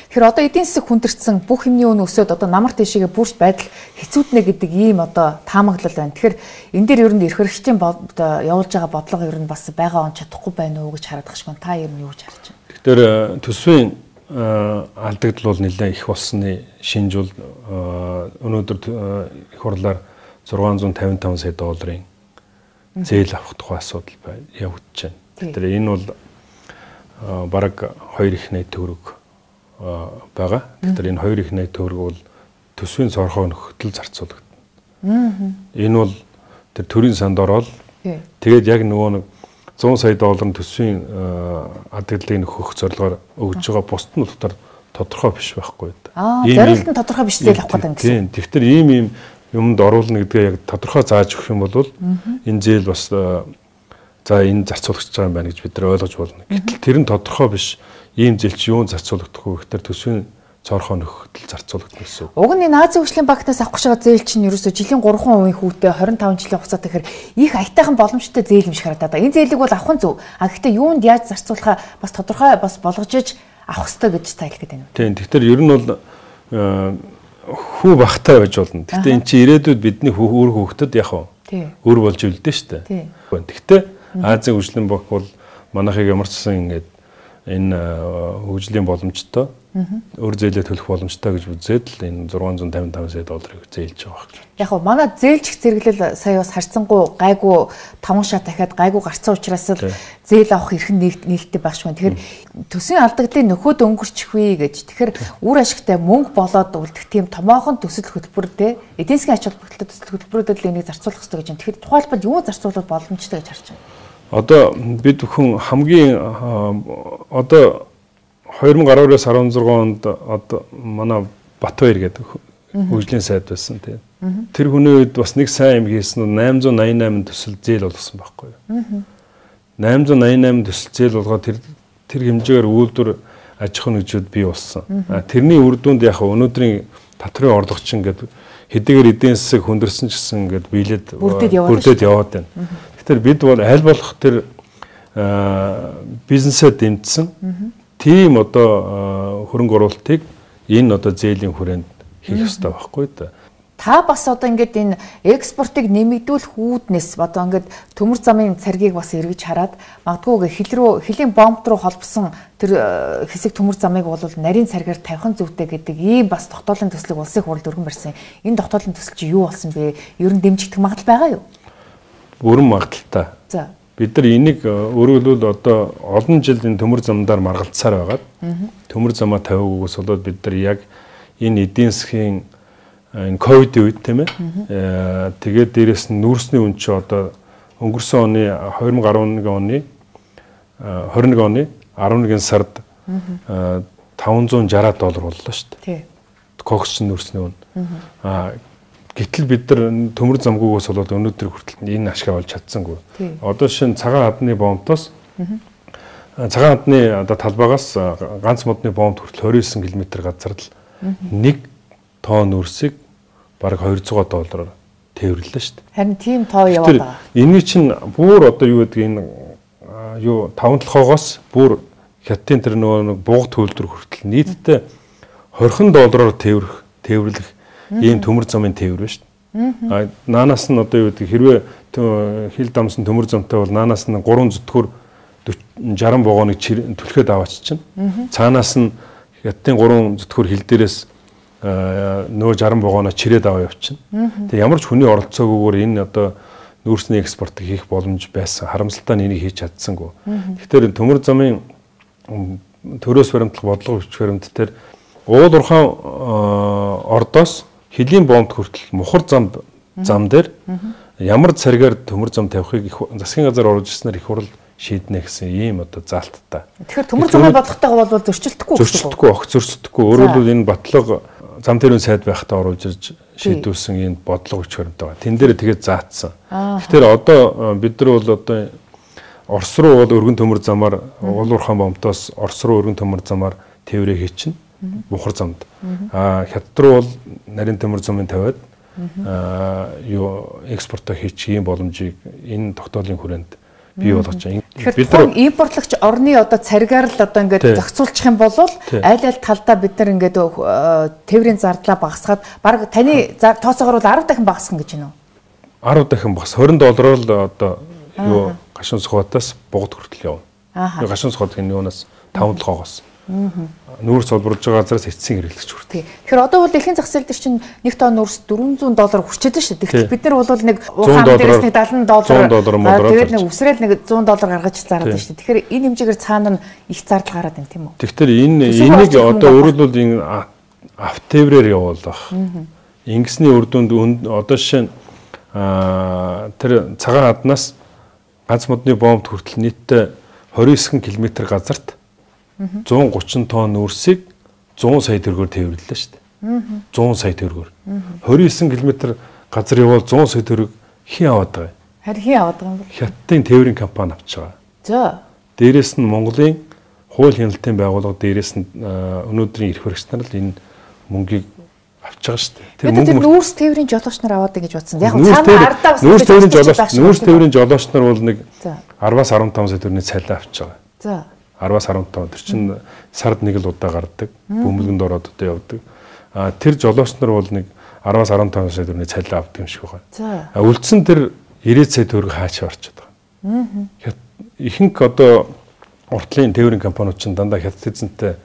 Тэгэхээр одоо эдийн засаг хүндэрсэн бүх юмны үн өсөд одоо намар тийшээгээ бүрч байдал хэцүүднэ гэдэг ийм одоо таамаглал байна. Тэгэхээр энэ дээр ер нь эрх хэрэгчдийн явуулж байгаа бодлого ер нь бас байгаа он чадахгүй байна уу гэж харагдах шиг байна. Та ер нь юу гэж харж байна? Тэгэхээр төсвийн алдагдал бол нэлээд их болсны шинж бол өнөөдөр их хурлаар 655 сая долларын зээл авах тухай асуудал явагдаж байна. Тэгэхээр энэ бол бараг 2,8 төгрөг байгаа. Тэгэхээр энэ 2,8 төгрөг бол төсвийн цорхоо нөхөдөл зарцуулагдана. Энэ бол тэр төрийн санд ороод тэгээд яг нөгөө нэг 100 сая долларын төсвийн алдагдлыг нөхөх зорилгоор өгж байгаа бусд нь тодорхой биш байхгүй. Зорилт нь тодорхой биш зээл авах гэдэг юм. Тэгэхээр ийм юмд оруулна гэдгээ яг тодорхой зааж өгөх юм бол энэ зээл бас за энэ зарцуулагдж байгаа юм байна гэж бид нар ойлгож болно. Гэтэл тэр нь тодорхой биш. Ийм зээл чи юун зарцуулагдах вэ гэхээр төсвийн цорхоо нөхөдөл зарцуулагдана гэсэн үг. Уг нь Азийн хөгжлийн банкнаас авах гэж байгаа зээл чинь ерөөсө жилийн 3% хүүтэй 25 жилийн хугацаатай гэхээр их аятайхан боломжтой зээл юм шиг харагдаад байна. Энэ зээлийг бол авах нь зөв. Гэхдээ юунд яаж зарцуулахаа бас тодорхой бас болгож иж авах хэрэгтэй гэж та хэлэх гээд байна. Тийм. Тэгэхээр ер нь бол хүү багтай байж болно. Гэхдээ эн чинь ирээдүйд бидний өөр хүүхдэд яг өөр болж үлдэн штэ. Гэхдээ Азийн хөгжлийн банк бол манайхыг ямар ч сан ингээд энэ хөгжлийн боломжтой өөр зээлээ төлөх боломжтой гэж үзээд л энэ 655 сая долларыг зээлж байгаа гэж. Яг нь манай зээлжих зэрэглэл сая бас харьцангуй гайгүй 5 шат дахиад гайгүй гарцсан учраас л зээл авах эрх нээлттэй байх шиг байна. Тэгэхээр төсвийн алдагдлыг нөхөд өнгөрчих вэ гэж. Тэгэхээр үр ашигтай мөнгө болоод үлдэх тийм томоохон төсөл хөтөлбөр те эдийн засгийн ач холбогдолтой төсөл хөтөлбөрүүдэд л энийг зарцуулах хэрэгтэй гэж байна. Тэгэхээр тухайлбал юу зарцуулах боломжтой гэж харж байна. Одоо бид бүхэн хамгийн одоо 2012-оос 16 онд одоо манай Батбаяр гэдэг хөгжлийн сайд байсан тийм. Тэр хүний үед бас нэг сайн юм хийсэн нь 888 төсөл зээл болгосон байхгүй юу. 888 төсөл зээл болгоод тэр хэмжээгээр үйлдвэр аж ахуйн нэгжүүд бий болсон. Тэрний үр дүнд яг өнөөдрийн татрын орлогочин гэдэг хэдийгээр эдийн засаг хүндэрсэн ч гэсэн ингээд биелээд бүрдээд яваад байна. Тэгэхээр бид бол аль болох тэр бизнесээ дэмжсэн тийм одоо хөрөнгө оруулалтыг энэ одоо зээлийн хүрээнд хийх ёстой байхгүй да. Та бас одоо ингээд энэ экспортыг нэмэгдүүлэх үүднээс одоо ингээд төмөр замын царгийг бас эргэж хараад магадгүй хилийн бомб руу холбосон тэр хэсэг төмөр замыг бол нарийн царгаар тавих зүйтэй гэдэг ийм бас тогтоолын төслийг улсын хурлд өргөн барьсан. Энэ тогтоолын төсөл чи юу болсон бэ? Ер нь дэмжигдэх магадлал байгаа юу? Бүрэн магадaltaй. За. Бид нар энийг өөрөглөл одоо олон жил энэ төмөр замдаар маргалцсаар байгаад төмөр замаа тавиагаас болоод бид нар яг энэ эдийн засгийн энэ ковидын үед тийм ээ тэгээд дээрэс нь нүүрсний үн чи одоо өнгөрсөн оны 2011 оны 11 сард $560 боллоо шүү дээ. Кокс нүүрсний үн. Гэтэл бид нар төмөр замгүйгээс болоод өнөөдөр хүртэл энэ ашиг олж чадсангүй. Одоо шинэ цагаан хадны бомбтоос цагаан хадны одоо талбайгаас ганц модны бомбд хүртэл 29 км газар л 1 тонн нүүрсийг бараг $200 тээвэрлээ шүү дээ. Харин тийм тоо яваад байгаа. Энийг чинь бүр одоо юу гэдэг энэ юу 5 толгоогоос бүр хятадын тэр нөгөө бууга төлөвлөр хүртэл нийтдээ $20 тээвэрлэх ийм төмөр замын тээвэр байна шүү дээ. Наанаас нь одоо юу гэдэг хэрвээ хил дамсан төмөр замтай бол наанаас нь 3 зүтгүүр 60 вагоныг түлхээд аваач чинь. Цаанаас нь хятадын 3 зүтгүүр хил дээрээс нөгөө 60 вагоноо чирээд аваа явчихна. Тэгээ ямар ч хүний оролцоогүйгээр энэ одоо нүүрсний экспортыг хийх боломж байсан. Харамсалтай нь энийг хийж чадсангүй. Тэгэхээр төмөр замын төрөөс баримтлах бодлого хүч баримт дээр уул уурхайн ордоос хилийн бомбд хүртэл мухар зам дээр ямар царгаар төмөр зам тавихыг засгийн газар оруулж ирснээр их хурл шийднэ гэсэн ийм одоо заалттай. Тэгэхээр төмөр замын бодлоготойгоо бол зөрчилдөхгүй гэсэн үг. Огт зөрчилдөхгүй. Өөрөөр хэлбэл энэ батлага зам тэрүүн сайд байхдаа оруулж ирж шийдүүлсэн энэ бодлого хүч баримт байгаа. Тэн дээр тэгээд заацсан. Тэгэхээр одоо бид нар бол одоо Орос руу бол өргөн төмөр замаар уул уурхайн бомбтоос Орос руу өргөн төмөр замаар тээврээ хийчихнэ. Мухар замд. Хятад руу бол нарийн төмөр замын тавиад юу экспортоо хийчих ийм боломжийг энэ тогтоолын хүрээнд бий болгож байгаа. Бид нар импортлогч орны одоо царгаар л одоо ингээд зохицуулчих юм бол аль аль талдаа бид нар ингээд тээврийн зардлаа багасгаад баг таны тооцоогоор бол 10 дахин багасгах гэж байна уу? 10 дахин багас. $20 л одоо юу гашуун сухатаас бугад хүртэл явна. Гашуун сухат гэх нь юунаас 5-7-оос. Нүүрс солборлож байгаа газараас эцсийн хэрэглэгч хүртээ. Тэгэхээр одоо бол дэлхийн зах зээл дээр чинь нэг тонн нүүрс $400 хүрчээд байна шүү дээ. Бид нар бол нэг ухаан дээрээс нэг $70 тэгээд нэг үсрээл нэг $100 гаргаж зараад байна шүү дээ. Тэгэхээр энэ хэмжээгээр цаана нь их зардал гараад байна тийм үү? Тэгэхээр энийг одоо өөрөлдвөл энэ автотеврээр явуулах. Ингэсний үр дүнд одоо жишээ нь тэр цагаан хаднаас ганц модны бомбд хүртэл нийтдээ 29 км газарт 130 тонн нүүрсийг 100 сая төгрөгөөр тээвэрлэлээ шүү дээ. 100 сая төгрөгөөр. 29 км газар явал 100 сая төгрөг хин аваад байгаа. Харин хин аваад байгаа юм бэ? Хятадын тээврийн компани авч байгаа. За. Дээрээс нь Монголын хууль хяналтын байгууллага, дээрээс нь өнөөдрийн эрх баригч нар л энэ мөнгийг авч байгаа шүү дээ. Тэр нүүрс тээврийн жолооч нар аваад гэж бодсон. Яг цаана ардаа бас нүүрс тээврийн жолооч нар бол нэг 10-аас 15 сая төгрөгийн цалин авч байгаа. За. 10-аас 15 тэр чинь сард нэг л удаа гардаг. Бөмбөлгөнд ороод одоо явдаг. Тэр жолооч нар бол нэг 10-аас 15 сая төгрөгийн цалин авдаг юм шиг байна. За. Үлдсэн тэр 90 сая төгрөг хаачаа орчод байгаа. Ихэнх одоо уртлын тээврийн компаниуд чинь дандаа хятад эзэнтэй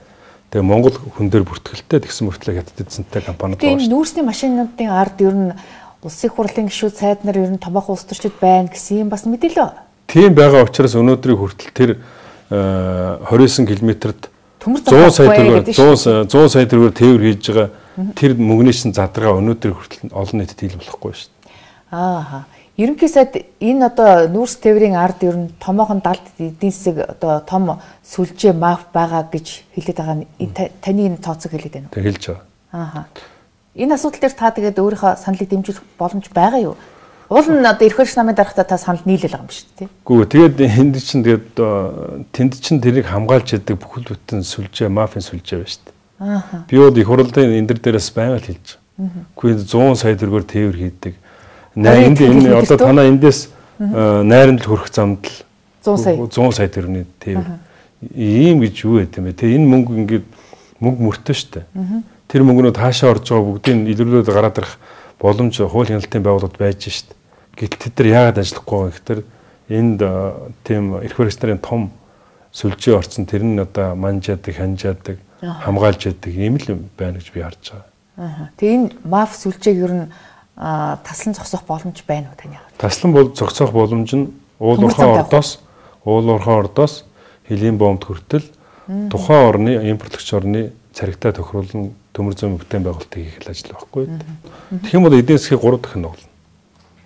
тэгээ Монгол хүн дээр бүртгэлтэй тэгсэн мөртлөө хятад эзэнтэй компаниуд байна. Энэ нүүрсний машинуудын ард ер нь улсын их хурлын гишүүд сайд нар ер нь томоохон улс төрчид байна гэсэн юм бас мэдээлээ. Тийм байгаа учраас өнөөдрийн хүртэл тэр 29 км-т 100 сая төгрөгөөр тээвэр хийж байгаа тэр мөнгөний чинь задрагаа өнөөдрийн хүртэл олон нийтэд ил болохгүй шүү дээ. Ерөнхий сайд энэ одоо нүүрс тээврийн ард ер нь томоохон далд эдийн засаг одоо том сүлжээ маф байгаа гэж хэлээд байгаа нь таны энэ тооцоог хэлээд байна уу? Тэг хэлж байгаа. Энэ асуудал дээр та тэгээд өөрийнхөө саналыг дэмжих боломж байгаа юу? Уул нь одоо эрх баригч намын дарагтаа та санал нийлэл байгаа юм шүү дээ. Гүү тэгээд энд чинь тэгээд тэнд чинь тэрийг хамгаалж яадаг бүхэл бүтэн сүлжээ мафийн сүлжээ байна шүү дээ. Би бол их хурлын энэ дээрээс байнга л хэлж байгаа. Гэхдээ 100 сая төгрөгөөр тээвэр хийдэг. Энэ одоо танаа эндээс найрамд хүрэх замд л 100 сая төгрөгийн тээвэр. Ийм гэж юу байт юм бэ? Тэгээ энэ мөнгө ингээд мөнгө мөртөө шүү дээ. Тэр мөнгнүүд хаашаа орж байгаа бүгдийг илрүүлээд гараад ирэх боломж хууль хяналтын байгууллагууд байж шүү дээ. Гэтэл тэд нар яагаад ажиллахгүй вэ гэхээр энд тийм эрх баригч нарын том сүлжээ орцсон тэр нь одоо манжаадаг, ханжаадаг, хамгаалж яадаг юм л байна гэж би харж байгаа. Тэгээ энэ маф сүлжээг ер нь таслан зогсоох боломж байна уу таны хараад? Таслан зогсоох боломж нь уул уурхай ордоос хэлийн бомбд хүртэл тухайн орны импортлогч орны царигтай тохируулан төмөр зүйн бүтээн байгуулалтыг хийх ажил байхгүй. Тэгэх юм бол эдийн засгийг 3 дахин нуглана.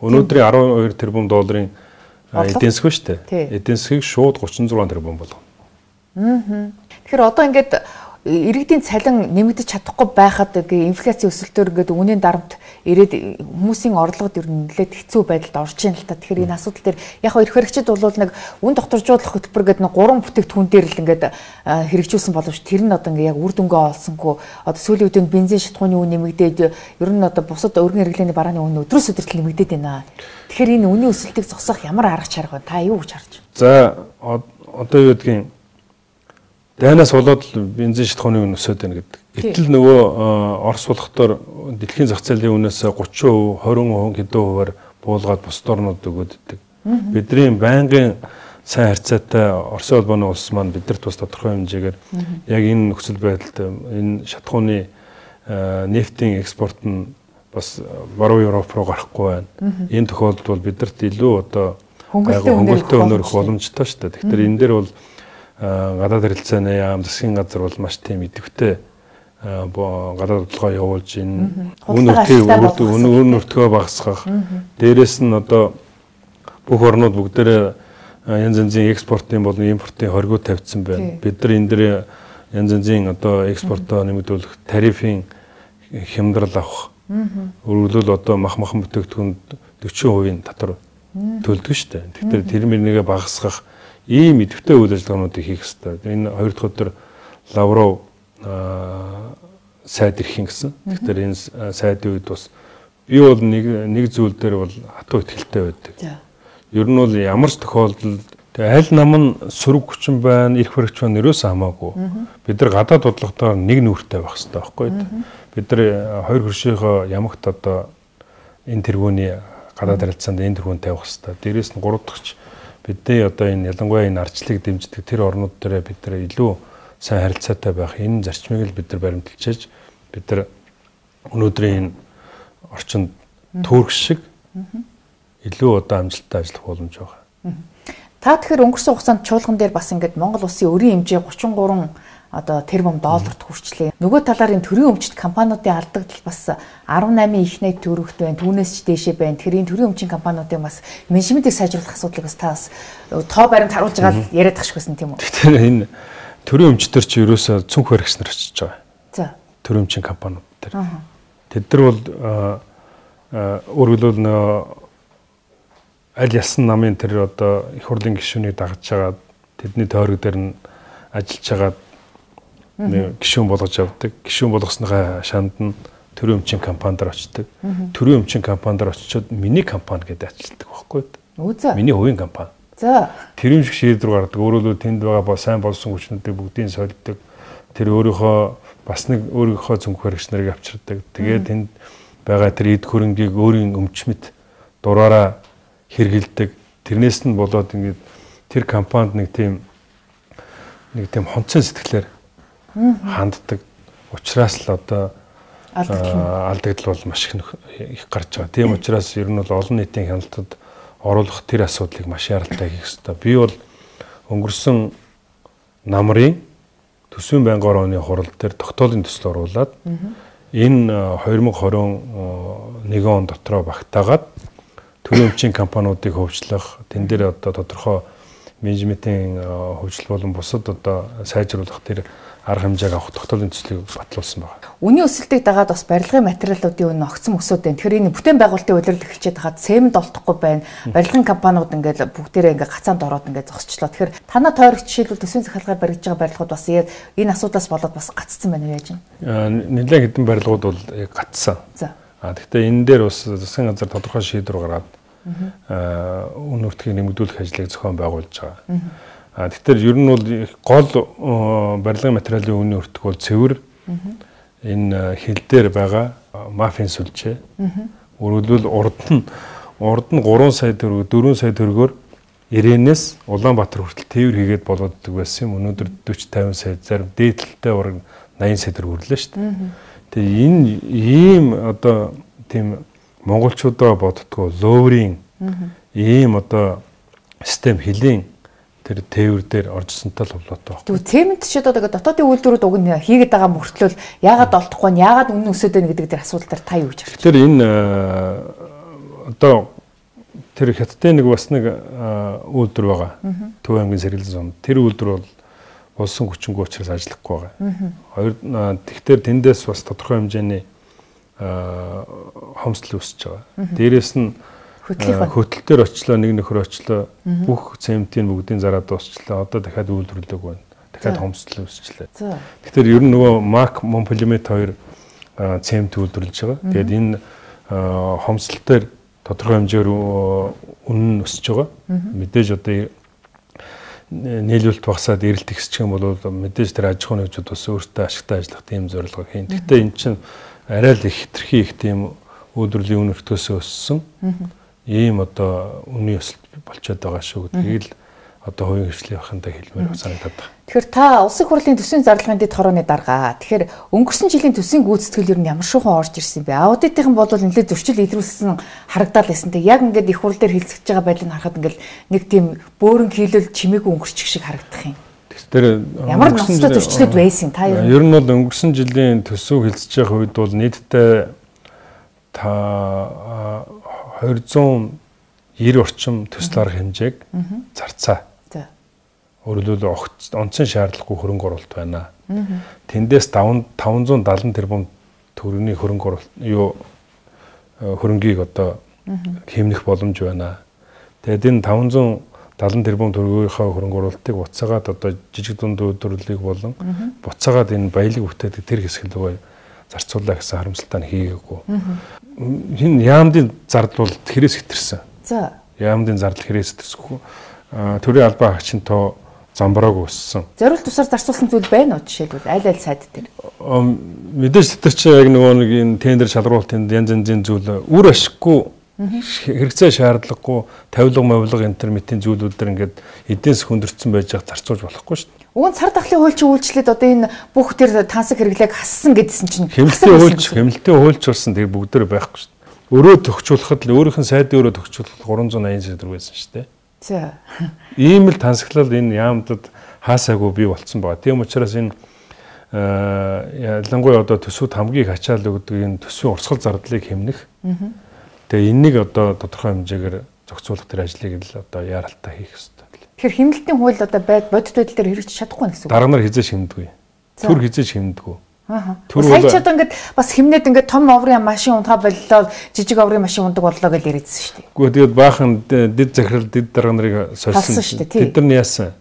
Өнөөдрийн $12 тэрбум эдийн засаг шүү дээ. Эдийн засгийг шууд 36 тэрбум болгоно. Тэгэхээр одоо ингээд иргэдийн цалин нэмэгдэж чадахгүй байхад инфляцийн өсөлтөөр ингээд үнийн дарамт ирээд хүмүүсийн орлогод ер нь нэлээд хэцүү байдалд орж ийн л та. Тэгэхээр энэ асуудал дээр яг эрх баригчид бол нэг үн докторжуулах хөтөлбөр гэдэг нэг 3 бүтээгдэхүүн дээр л ингээд хэрэгжүүлсэн боловч тэр нь одоо ингээд яг үр дүнгээ олсонгүй одоо сүүлийн үед бензин шатхууны үн нэмэгдээд ер нь одоо бусад өргөн хэрэглээний барааны үн өдрөөс өдөрт нэмэгдээд байна. Тэгэхээр энэ үнийн өсөлтийг зогсоох ямар арга чарга вэ? Та юу гэж харж байна? За одоо юу гэдгийг дайнаас болоод бензин шатхууны үн өсөд байна гэдэг. Гэтэл нөгөө Орос болохдоор дэлхийн зах зээлийн үнээс 30%, 20% хэдэн хувиар буулгаад бусад орнууд өгөөддөг. Бидний байнгын сайн харьцаатай Оросын улбаны улс маань бидэрт бас тодорхой хэмжээгээр яг энэ нөхцөл байдалд энэ шатхууны нефтийн экспорт нь бас баруун Европ руу гарахгүй байна. Энэ тохиолдолд бол бидэрт илүү одоо хөнгөлөлтөй өнөр их боломжтой шүү дээ. Тэгэхээр энэ дээр бол гадаад харилцааны яам засгийн газар бол маш тийм идэвхтэй гадаад судалгаа явуулж энэ үн өртгөө багасгах. Дээрээс нь одоо бүх орнууд бүгдээрээ янз янзын экспортын болон импортын хоригоо тавьдсан байна. Бид нар энэ дээр янз янзын одоо экспортоо нэмэгдүүлэх тарифын хямдрал авах. Өөрөлдөл одоо махан бүтээгдэхүүнд 40% татвар төлдөг шүү дээ. Тэгэхээр тэр мөрнийгээ багасгах ийм идэвхтэй үйл ажиллагаануудыг хийх хэрэгтэй. Энэ хоёр дахь өдөр Лавров сайд ирэх гэсэн. Тэгэхээр энэ сайдын үед бас би бол нэг зүйл дээр бол хатуу ихтэй байдаг. Ер нь бол ямар ч тохиолдолд Тэгээ аль нам нь сөрөг хүчин байна, эрх баригч байна ерөөсөө хамаагүй. Бид нар гадаад бодлоготоор нэг нүртэй байх хэрэгтэй байхгүй. Бид нар хоёр хөршийнхөө ямагт одоо энэ тэргүүний гадаад харилцаанд энэ тэргүүнд тавих хэрэгтэй. Дээрээс нь гурав дахьч бидний одоо энэ ялангуяа энэ ардчлалыг дэмждэг тэр орнууд дээр бид нар илүү сайн харилцаатай байх энэ зарчмыг л бид нар баримталж бид нар өнөөдрийн орчинд төөрөх шиг илүү одоо амжилттай ажиллах боломж байгаа. Та тэгэхээр өнгөрсөн хугацаанд чуулган дээр бас ингээд Монгол улсын өрийн хэмжээ 33 одоо тэрбум долларт хүрчлээ. Нөгөө талаар энэ төрийн өмчит компаниудын алдагдал бас 18 их найт төгрөгт байна. Түүнээс ч дээшээ байна. Тэгэхээр энэ төрийн өмчийн компаниудын бас менежментийг сайжруулах асуудлыг бас та бас тоо баримт харуулж байгаа л яриад тахшгүйсэн тийм үү? Тэгэхээр энэ төрийн өмчтөр чи ерөөсөө цүнх баригч нар очиж байгаа. За. Төрийн өмчийн компаниуд дээр. Тэд нар бол өөрөлдөл аль ясан намын тэр одоо их хурлын гишүүнийг дагаж байгаа тэдний тойрог дээр нь ажиллаж байгаа гишүүн болгож авдаг. Гишүүн болгосныхаа шанд нь төрийн өмчийн компанидэр очдог. Төрийн өмчийн компанидэр очиод миний компани гэдэг ажилладаг байхгүй юу? Миний хувийн компани. За. Тэр юм шиг шийдвэр гаргадаг. Өөрөлдөө тэнд байгаа сайн болсон хүчнүүдийг бүгдийг сольдог. Тэр өөрийнхөө бас нэг өөрийнхөө цүнх баригч нарыг авчирдаг. Тэгээд тэнд байгаа тэр эд хөрөнгийг өөрийн өмчмөд дураараа хэрэгэлдэг. Тэрнээс нь болоод ингээд тэр компанид нэг тийм хонцон сэтгэлээр ханддаг. Учираас л одоо алдагдал бол маш их гарч байгаа. Тийм учраас ер нь бол олон нийтийн хяналтад оруулах тэр асуудлыг маш яралтай хийх хэрэгтэй. Би бол өнгөрсөн намрын төсвийн байнгын оны хурал дээр тогтоолын төсөл оруулаад энэ 2021 он дотроо багтаагаад төрийн өмчийн компаниудыг хөгжлөх, тэн дээр одоо тодорхой менежментийн хөгжил болон бусад одоо сайжруулах тэр арга хэмжээг авах тогтоолын төслийг батлуулсан байна. Үний өсөлтийг дагаад бас барилгын материалуудын үнэ огцом өсөд байна. Тэгэхээр энэ бүтээн байгуулалтын улирал эхэлчихэд хаад цемент олдохгүй байна. Барилгын компаниуд ингээд бүгдээрээ ингээд гацаанд ороод ингээд зогсчлоо. Тэгэхээр танаа тойрогч жишээлбэл төсвийн захиргагаар баригдаж байгаа барилгууд бас энэ асуудлаас болоод бас гаццсан байна уу яаж юм? Нэлээд хэдэн барилгууд бол гацсан. За. Гэхдээ энэ дээр бас засгийн газар тодорхой шийдвэр гаргаад үн нуртгийг нэмэгдүүлэх ажлыг зохион байгуулж байгаа. Тэгэхээр ер нь бол гол барилгын материалын үнийн өртөг бол цэвэр энэ хил дээр байгаа мафийн сүлжээ. Өөрөлдвөл урд нь 3 сая төгрөг 4 сая төгрөгөөр Ирээнээс Улаанбаатар хүртэл тээвэр хийгээд болооддаг байсан юм. Өнөөдөр 40-50 сая зарим дээдлэлтэй ураг 80 сая төгрөг хүрлээ шүү дээ. Тэгээ энэ ийм одоо тийм монголчуудаа боддгоо лоурийн ийм одоо систем хилийн тэр тээвэр дээр оржсонтой л болоотой байна. Тэгвэл цемент ч одоо дотоодын үйлдвэрүүд уг нь хийгээд байгаа мөртлөө яагаад олдохгүй нь яагаад үнэн өсөд байна гэдэг дээр асуудал дээр та юу гэж харж байна? Тэгэхээр энэ одоо тэр хятадын нэг бас нэг үйлдвэр байгаа. Төв аймгийн сэргэлэн сумд. Тэр үйлдвэр бол улсын хүчингүй учраас ажиллахгүй байгаа. Хоёр тэгэхээр тэндээс бас тодорхой хэмжээний хомсдол үүсэж байгаа. Дээрээс нь хөтөл дээр очлоо нэг нөхөр очлоо бүх цементийн бүгдийн зараа дуусчлаа. Одоо дахиад үйлдвэрлэдэг байна. Дахиад хомсдол үүсчлээ. Тэгэхээр ер нь нөгөө Мак Монполимет 2 цемент үйлдвэрлэж байгаа. Тэгээд энэ хомсдол дээр тодорхой хэмжээгээр үнэн өсөж байгаа. Мэдээж одоо нийлүүлэлт багасаад эрэлт ихсчих юм бол мэдээж тэр аж ахуйн нэгжүүд бас өөртөө ашигтай ажиллах тийм зорилго хийн. Гэхдээ эн чинь арай л их хэтэрхий их тийм үйлдвэрлэлийн үн өртөөсөө өссөн. Ийм одоо үнийн өсөлт болчиход байгаа шүү гэдгийг л одоо хувийн хвшлийн бахантай хэлмээр санагдаад байна. Тэгэхээр та улсын хурлын төсвийн зарлагын дэд хорооны дарга. Тэгэхээр өнгөрсөн жилийн төсвийн гүйцэтгэл ер нь ямар шуухан орж ирсэн бэ? Аудитын бол нэлээд зөрчил илрүүлсэн харагдаад байсан. Тэг яг ингээд их хурл дээр хилцэж байгаа байдлыг харахад ингээд нэг тийм бөөрөн хийлэл чимээгүй өнгөрчих шиг харагдах юм. Тэгэхээр ямар ноцтой зөрчлүүд байсан та ер нь бол өнгөрсөн жилийн төсөв хилцэж байгаа үед бол нийтдээ 290 орчим төсөл арга хэмжээг зарцаа. Өөрөлдвөл онцон шаардлагагүй хөрөнгө оруулалт байна. Тэндээс 570 тэрбум төгрөгийн хөрөнгө оруулалт хөрөнгийг одоо хэмнэх боломж байна. Тэгээд энэ 570 тэрбум төгрөгийнхаа хөрөнгө оруулалтыг буцаагаад одоо жижиг дунд үйлдвэрлэлийг болон буцаагаад энэ баялаг бүтээдэг тэр хэсэг рүү зарцуулаа гэсэн харамсалтай хийгээгүй. Энэ яамдын зардал бол тэрээс хэтэрсэн. За. Яамдын зардал хэрээс хэтэрсэхгүй. төрийн албан хаагчийн тоо замбрааг өссөн. Зориулт тусаар зарцуулсан зүйл байна уу жишээлбэл аль сайд дээр? Мэдээж тэр чинь яг нөгөө нэг энэ тендер шалруулалтын янз янзын зүйл үр ашиггүй хэрэгцээ шаардлагагүй тавилга мовлог интернетийн зүйлүүд төр ингээд эднээс хөндөрцөн байж байгаа зарцуулж болохгүй шүү дээ. Уг нь цар тахлын хуульч үйлчлээд одоо энэ бүх тэр тансаг хэрэглээг хассан гэдсэн чинь хэмнэлтийн хуульч болсон тэр бүгдээр байхгүй шүү дээ. Өрөө төгчүүлэхэд л өөрийнх нь сайдын өрөө төгчүүлэхэд 380 сая төгрөг байсан шүү дээ. За. Ийм л тансаглал энэ яамдад хаасаагүй бий болцсон байгаа. Тийм учраас энэ ялангуяа одоо төсвүүд хамгийн их ачаал өгдөг энэ төсвийн урсгал зардлыг хэмнэх. Тэгээ энэнийг одоо тодорхой хэмжээгээр зохицуулах тэр ажлыг л одоо яаралтай хийх хэрэгтэй. Тэгэхээр хэмнэлтийн хууль одоо бодит байдал дээр хэрэгжиж чадахгүй гэсэн үг. Дарга нар хизээж хэмдэггүй. Төр хизээж хэмдэггүй. Сая ч одоо ингээд бас хэмнээд ингээд том оврын машин унтгаа боллоо, жижиг оврын машин ундаг боллоо гэж яриадсэн шүү дээ. Гэхдээ тэгээд баахан дид захирал дид дарга нарыг сольсон шүү дээ. Тэд нар нь яасан?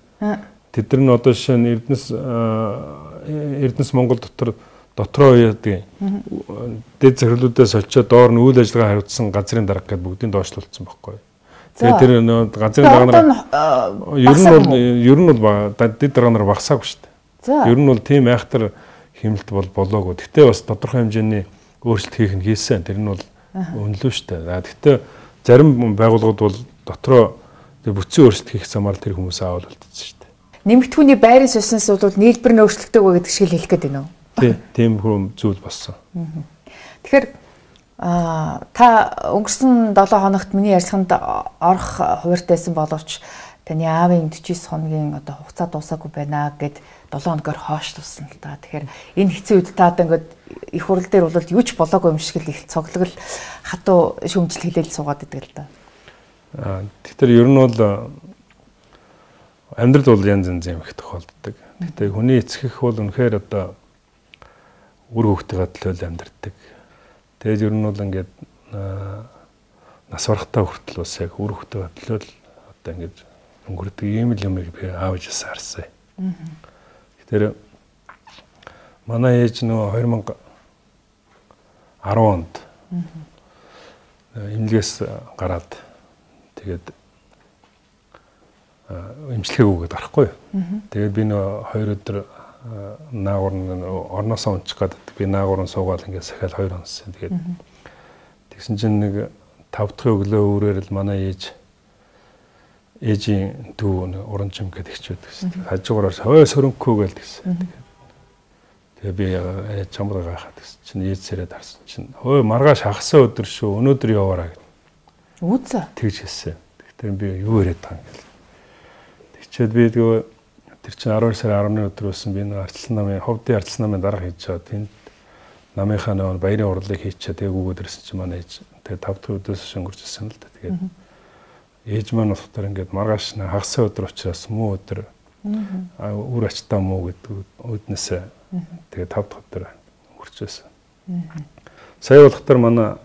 Тэд нар нь одоо жишээ нь Эрдэнэс Монгол дотроо яадаг дид захирлуудаас очиод доор нь үйл ажиллагаа хариуцсан газрын дарга гэдээ бүгдийг доошлуулсан байхгүй. Тэгээд тэр газрын дарга нар ер нь бол дид дарга нар багасаагүй шүү дээ. Ер нь бол тийм айхтар хэмнэлт болоогүй. Гэхдээ бас тодорхой хэмжээний өөрчлөлт хийх нь хийсэн. Тэр нь бол үнэлүү шүү дээ. Гэхдээ зарим байгууллагууд бол дотроо бүтцийн өөрчлөлт хийх замаар тэр хүмүүс аавал болтсон шүү дээ. Нэмэгдэхүүний байрын суснаас бол нийлбэр нь өөрчлөгдөөгүй гэдэг шиг хэлэх гээд байна уу? Тийм хүм зүйл болсон. Тэгэхээр та өнгөрсөн 7 хоногт миний ярилцлаганд орох хуваарьтайсан боловч таны аавын 49 хоногийн одоо хугацаа дуусаагүй байна гэд 7 хоногоор хойшлуулсан л да. Тэгэхээр энэ хэцүү үед та одоо ингээд их хурал дээр бол юу ч болоогүй юм шиг л их цоглол хатуу шүмжил хэлээл суугаад идэг л да. Тэгэхээр ер нь бол амьдрал бол янз янз юм их тохиолддог. Гэхдээ хүний эцгэх бол үнэхээр одоо үр хөвгтөйгээ төлөөл амьдардаг. Тэгээд ер нь бол ингээд нас барахтаа хүртэл бас яг үр хөвгтөйгээ төлөөл одоо ингээд өнгөрдөг ийм л юмыг би аавж харсан. Тэр манай ээж нөгөө 2010 онд эмнэлгээс гараад тэгээд эмчилгээг өгöd гарахгүй. Тэгээд би нөгөө 2 өдөр наагур орноосоо унчих гээд би наагур суугаад ингээд сахиал 2 онсон. Тэгээд тэгсэн чинь нэг 5 дахь өглөө өөрөөр л манай ээжийн дүү уранчим гэдэг ихчүүд гэсэн. Хажуугаар хой сөрөнгөө гээл гэсэн. Тэгээ би чамд гайхаад гэсэн чинь ээж сэрээд харсан чинь хой маргааш хагасаа өдөр шүү өнөөдөр яваараа гэв. Үүзээ. Тэгж хэлсэн. Тэгэхээр би юу яриад байгаа юм гээл. Тэгчээд би тэгээ тэр чинь 12 сарын 10-ны өдөр байсан би нэг арчилсан намын ховдын арчилсан намын дарга хийж байгаа. Тэнд намынхаа нэг баярын урлыг хийчихээ тэгээ өгөөд ирсэн чинь манай ээж тэгээ 5 дахь өдөөс өнгөрч ирсэн л да. Тэгээд ээж маань болохоор ингээд маргааш хагасаа өдөр учраас муу өдөр үр ачтаа муу гэдэг үүднээсээ тэгээ 5 дахь өдөр өнгөрч байсан. Сая болохоор манай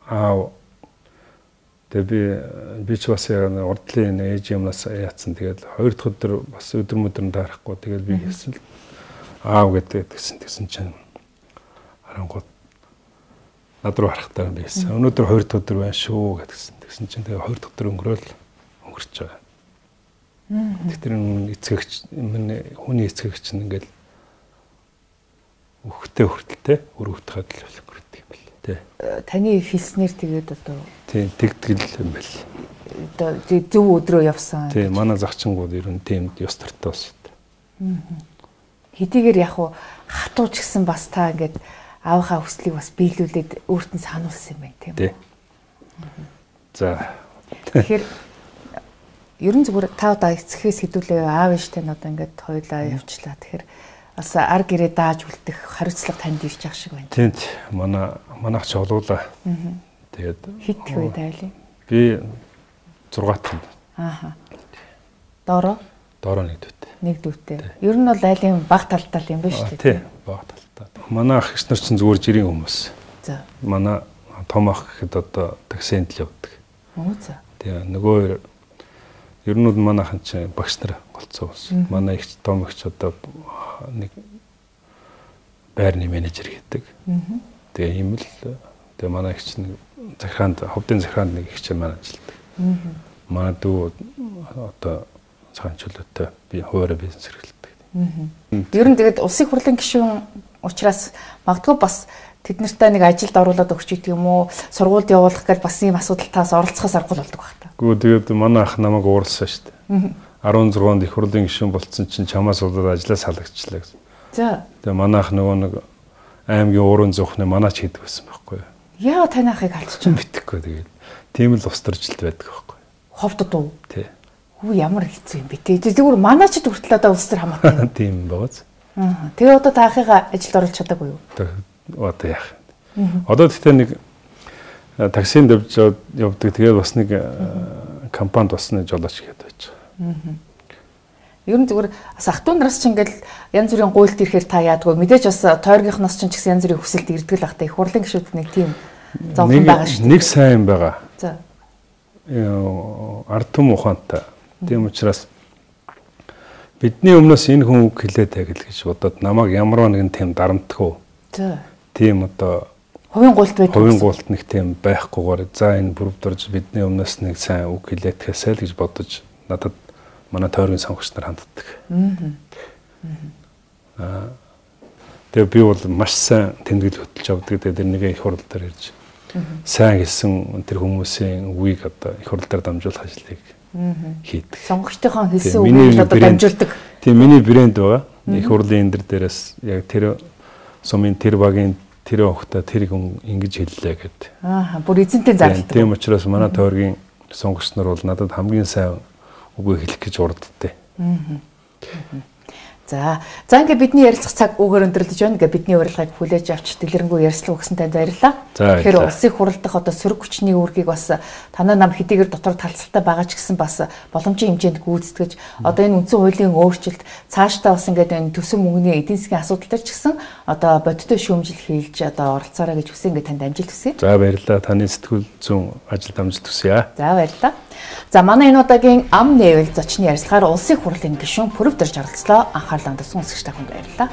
аав тэгээ би ч бас урдлын ээж юмнаас яатсан. Тэгээд 2 дахь өдөр бас өдөр мөдрөн таарахгүй. Тэгээд би хэлсэн л аав гэдэгсэн чинь харангууд над руу харахтаа би хэлсэн. Өнөөдөр 2 дахь өдөр байна шүү гэдгсэн. Тэгсэн чинь тэгээ 2 дахь өдөр өнгөрч байгаа. Тэр эцэгч хүний эцэгч нь ингээл өгөхтэй хүртэлтэй өр хөвтөхөд л өнгөрдөг юм бэл. Тэ. Таны хэлснээр тэгээд одоо тийм тэгтгэл юм бэл. Одоо зөв өдрөө явсан. Тийм манай загчингууд ер нь тийм ёс төртөө бас. Хэдийгээр яг хатууч гэсэн бас та ингээд аавынхаа хүслийг бас биелүүлээд өөртөө сануулсан юм байна тийм үү? За. Тэгэхээр ерөн зүгээр та одоо эцгээс хэдүүлээ аав ээжтэй нь одоо ингээд хоёулаа явчлаа. Тэгэхээр бас ар гэрээ дааж үлдэх хариуцлага танд ирж байгаа шиг байна. Тийм манайх ч олуулаа. Тэгээд хит их үе тайлаа. Би 6 тань. Ааха. Доороо нэг дүүтэй. Нэг дүүтэй. Ер нь бол айлын баг талтал юм байна шүү дээ. Тийм, баг талтал. Манай ах эгч нар чинь зүгээр жирийн хүмүүс. За. Манай том ах гэхэд одоо таксинд л явдаг. Оо за. Тэгээ нөгөө ер нь манайхан чинь багш нар голцоо болсон. Манай эгч том эгч одоо нэг байрны менежер гэдэг. Тэгээ ийм л тэгээ манай эгч нэг захираанд ховдын захираанд нэг эгч маань ажилладаг. Манай дүү одоо цагаан чөлөөтэй би хуваараа бизнес эрхэлдэг. Ер нь тэгээд улсын хурлын гишүүн учраас магадгүй бас тэд нартай нэг ажилд оруулаад өгч гэдэг юм уу, сургуульд явуулах гэж бас ийм асуудалтаас оролцохоос аргагүй болдог байх та. Гэхдээ тэгээд манай ах намайг ууралсан шүү дээ. 16-нд их хурлын гишүүн болцсон чинь чамаас удаад ажиллаа салгажчлаа гэсэн. За. Тэгээ манай ах нөгөө нэг аймгийн уурын зүхнээ манаач хийдэг байсан байхгүй юу? Яа таны ахыг алччихсан битгэхгүй тэгээд тийм л устаржилт байдаг байхгүй юу? Ховдод уу? Тий. Хүү ямар хэцүү юм бэ те. Зүгээр манаачд хүртэл одоо улс төр хамаатай. Тийм байгааз. Тэгээ одоо та ахыгаа ажилд оруулах чадаагүй юу? Одоо яах вэ? Одоо тэгтээ нэг таксинд явдаг тэгээд бас нэг компанид бас нэг жолооч гэдэг байж байгаа. Ер нь зүгээр бас ах トゥ нараас ч ингээл янз бүрийн гуйлт ирэхээр та яадгүй мэдээж бас тойргийнхноос ч гэсэн янз бүрийн хүсэлт ирдэг л ах та их хурлын гишүүд нэг тийм зовлон байгаа шүү дээ. Нэг сайн байгаа. За. Ард түмэн ухаантай. Тийм учраас бидний өмнөөс энэ хүн үг хэлээд тагил гэж бодоод намайг ямар нэгэн тийм дарамтгүй. За. Тийм одоо хувийн гуйлт байдаг. Хувийн гуйлт нэг тийм байхгүйгээр за энэ бүрдэрж бидний өмнөөс нэг сайн үг хэлээд тэсэл гэж бодож надад манай тойргийн сонгогч нар ханддаг. Тэгээ би бол маш сайн тэмдэглэл хөтлөж авдаг. Тэгээ нэг их хурал дээр ирж сайн хэлсэн тэр хүмүүсийн үгийг одоо их хурал дээр дамжуулах ажлыг хийдэг. Сонгогчдынхаа хэлсэн үгийг одоо дамжуулдаг. Тийм миний брэнд байгаа. Их хурлын энэ дээрээс яг тэр сумын тэр багийн тэр охтой тэр хүн ингэж хэллээ гэдэг. Бүр эзэнтэй зарлдаг. Тийм учраас манай тойргийн сонгогч нар бол надад хамгийн сайн үгүй хэлэх гэж урддээ. За ингээ бидний ярилцах цаг үгээр өндөрлөж байна. Ингээ бидний урилгыг хүлээж авч дэлгэрэнгүй ярилцлага өгсөн танд баярлалаа. Тэгэхээр улсын хурал дахь одоо сөрөг хүчний үүргийг бас танай нам хэдийгээр дотор талцалтай байгаа ч гэсэн бас боломжийн хэмжээнд гүйцэтгэж одоо энэ үндсэн хуулийн өөрчлөлт цаашдаа бас ингээ энэ төсөв мөнгөний эдийн засгийн асуудал төр ч гэсэн одоо бодиттой шүүмжил хийж одоо оролцоорой гэж хүсье ингээ танд амжилт хүсье. За баярлалаа. Таны сэтгүүл зүүн ажилд амжилт хүсье. За баярлалаа. За манай энэ удаагийн ам нээвэл зочны ярилцлагаар улсын хурлын гишүүн Пүрэв Дэрж оролцлоо. Анхаарлаа хандсан сонсогч та бүхэнд баярлалаа.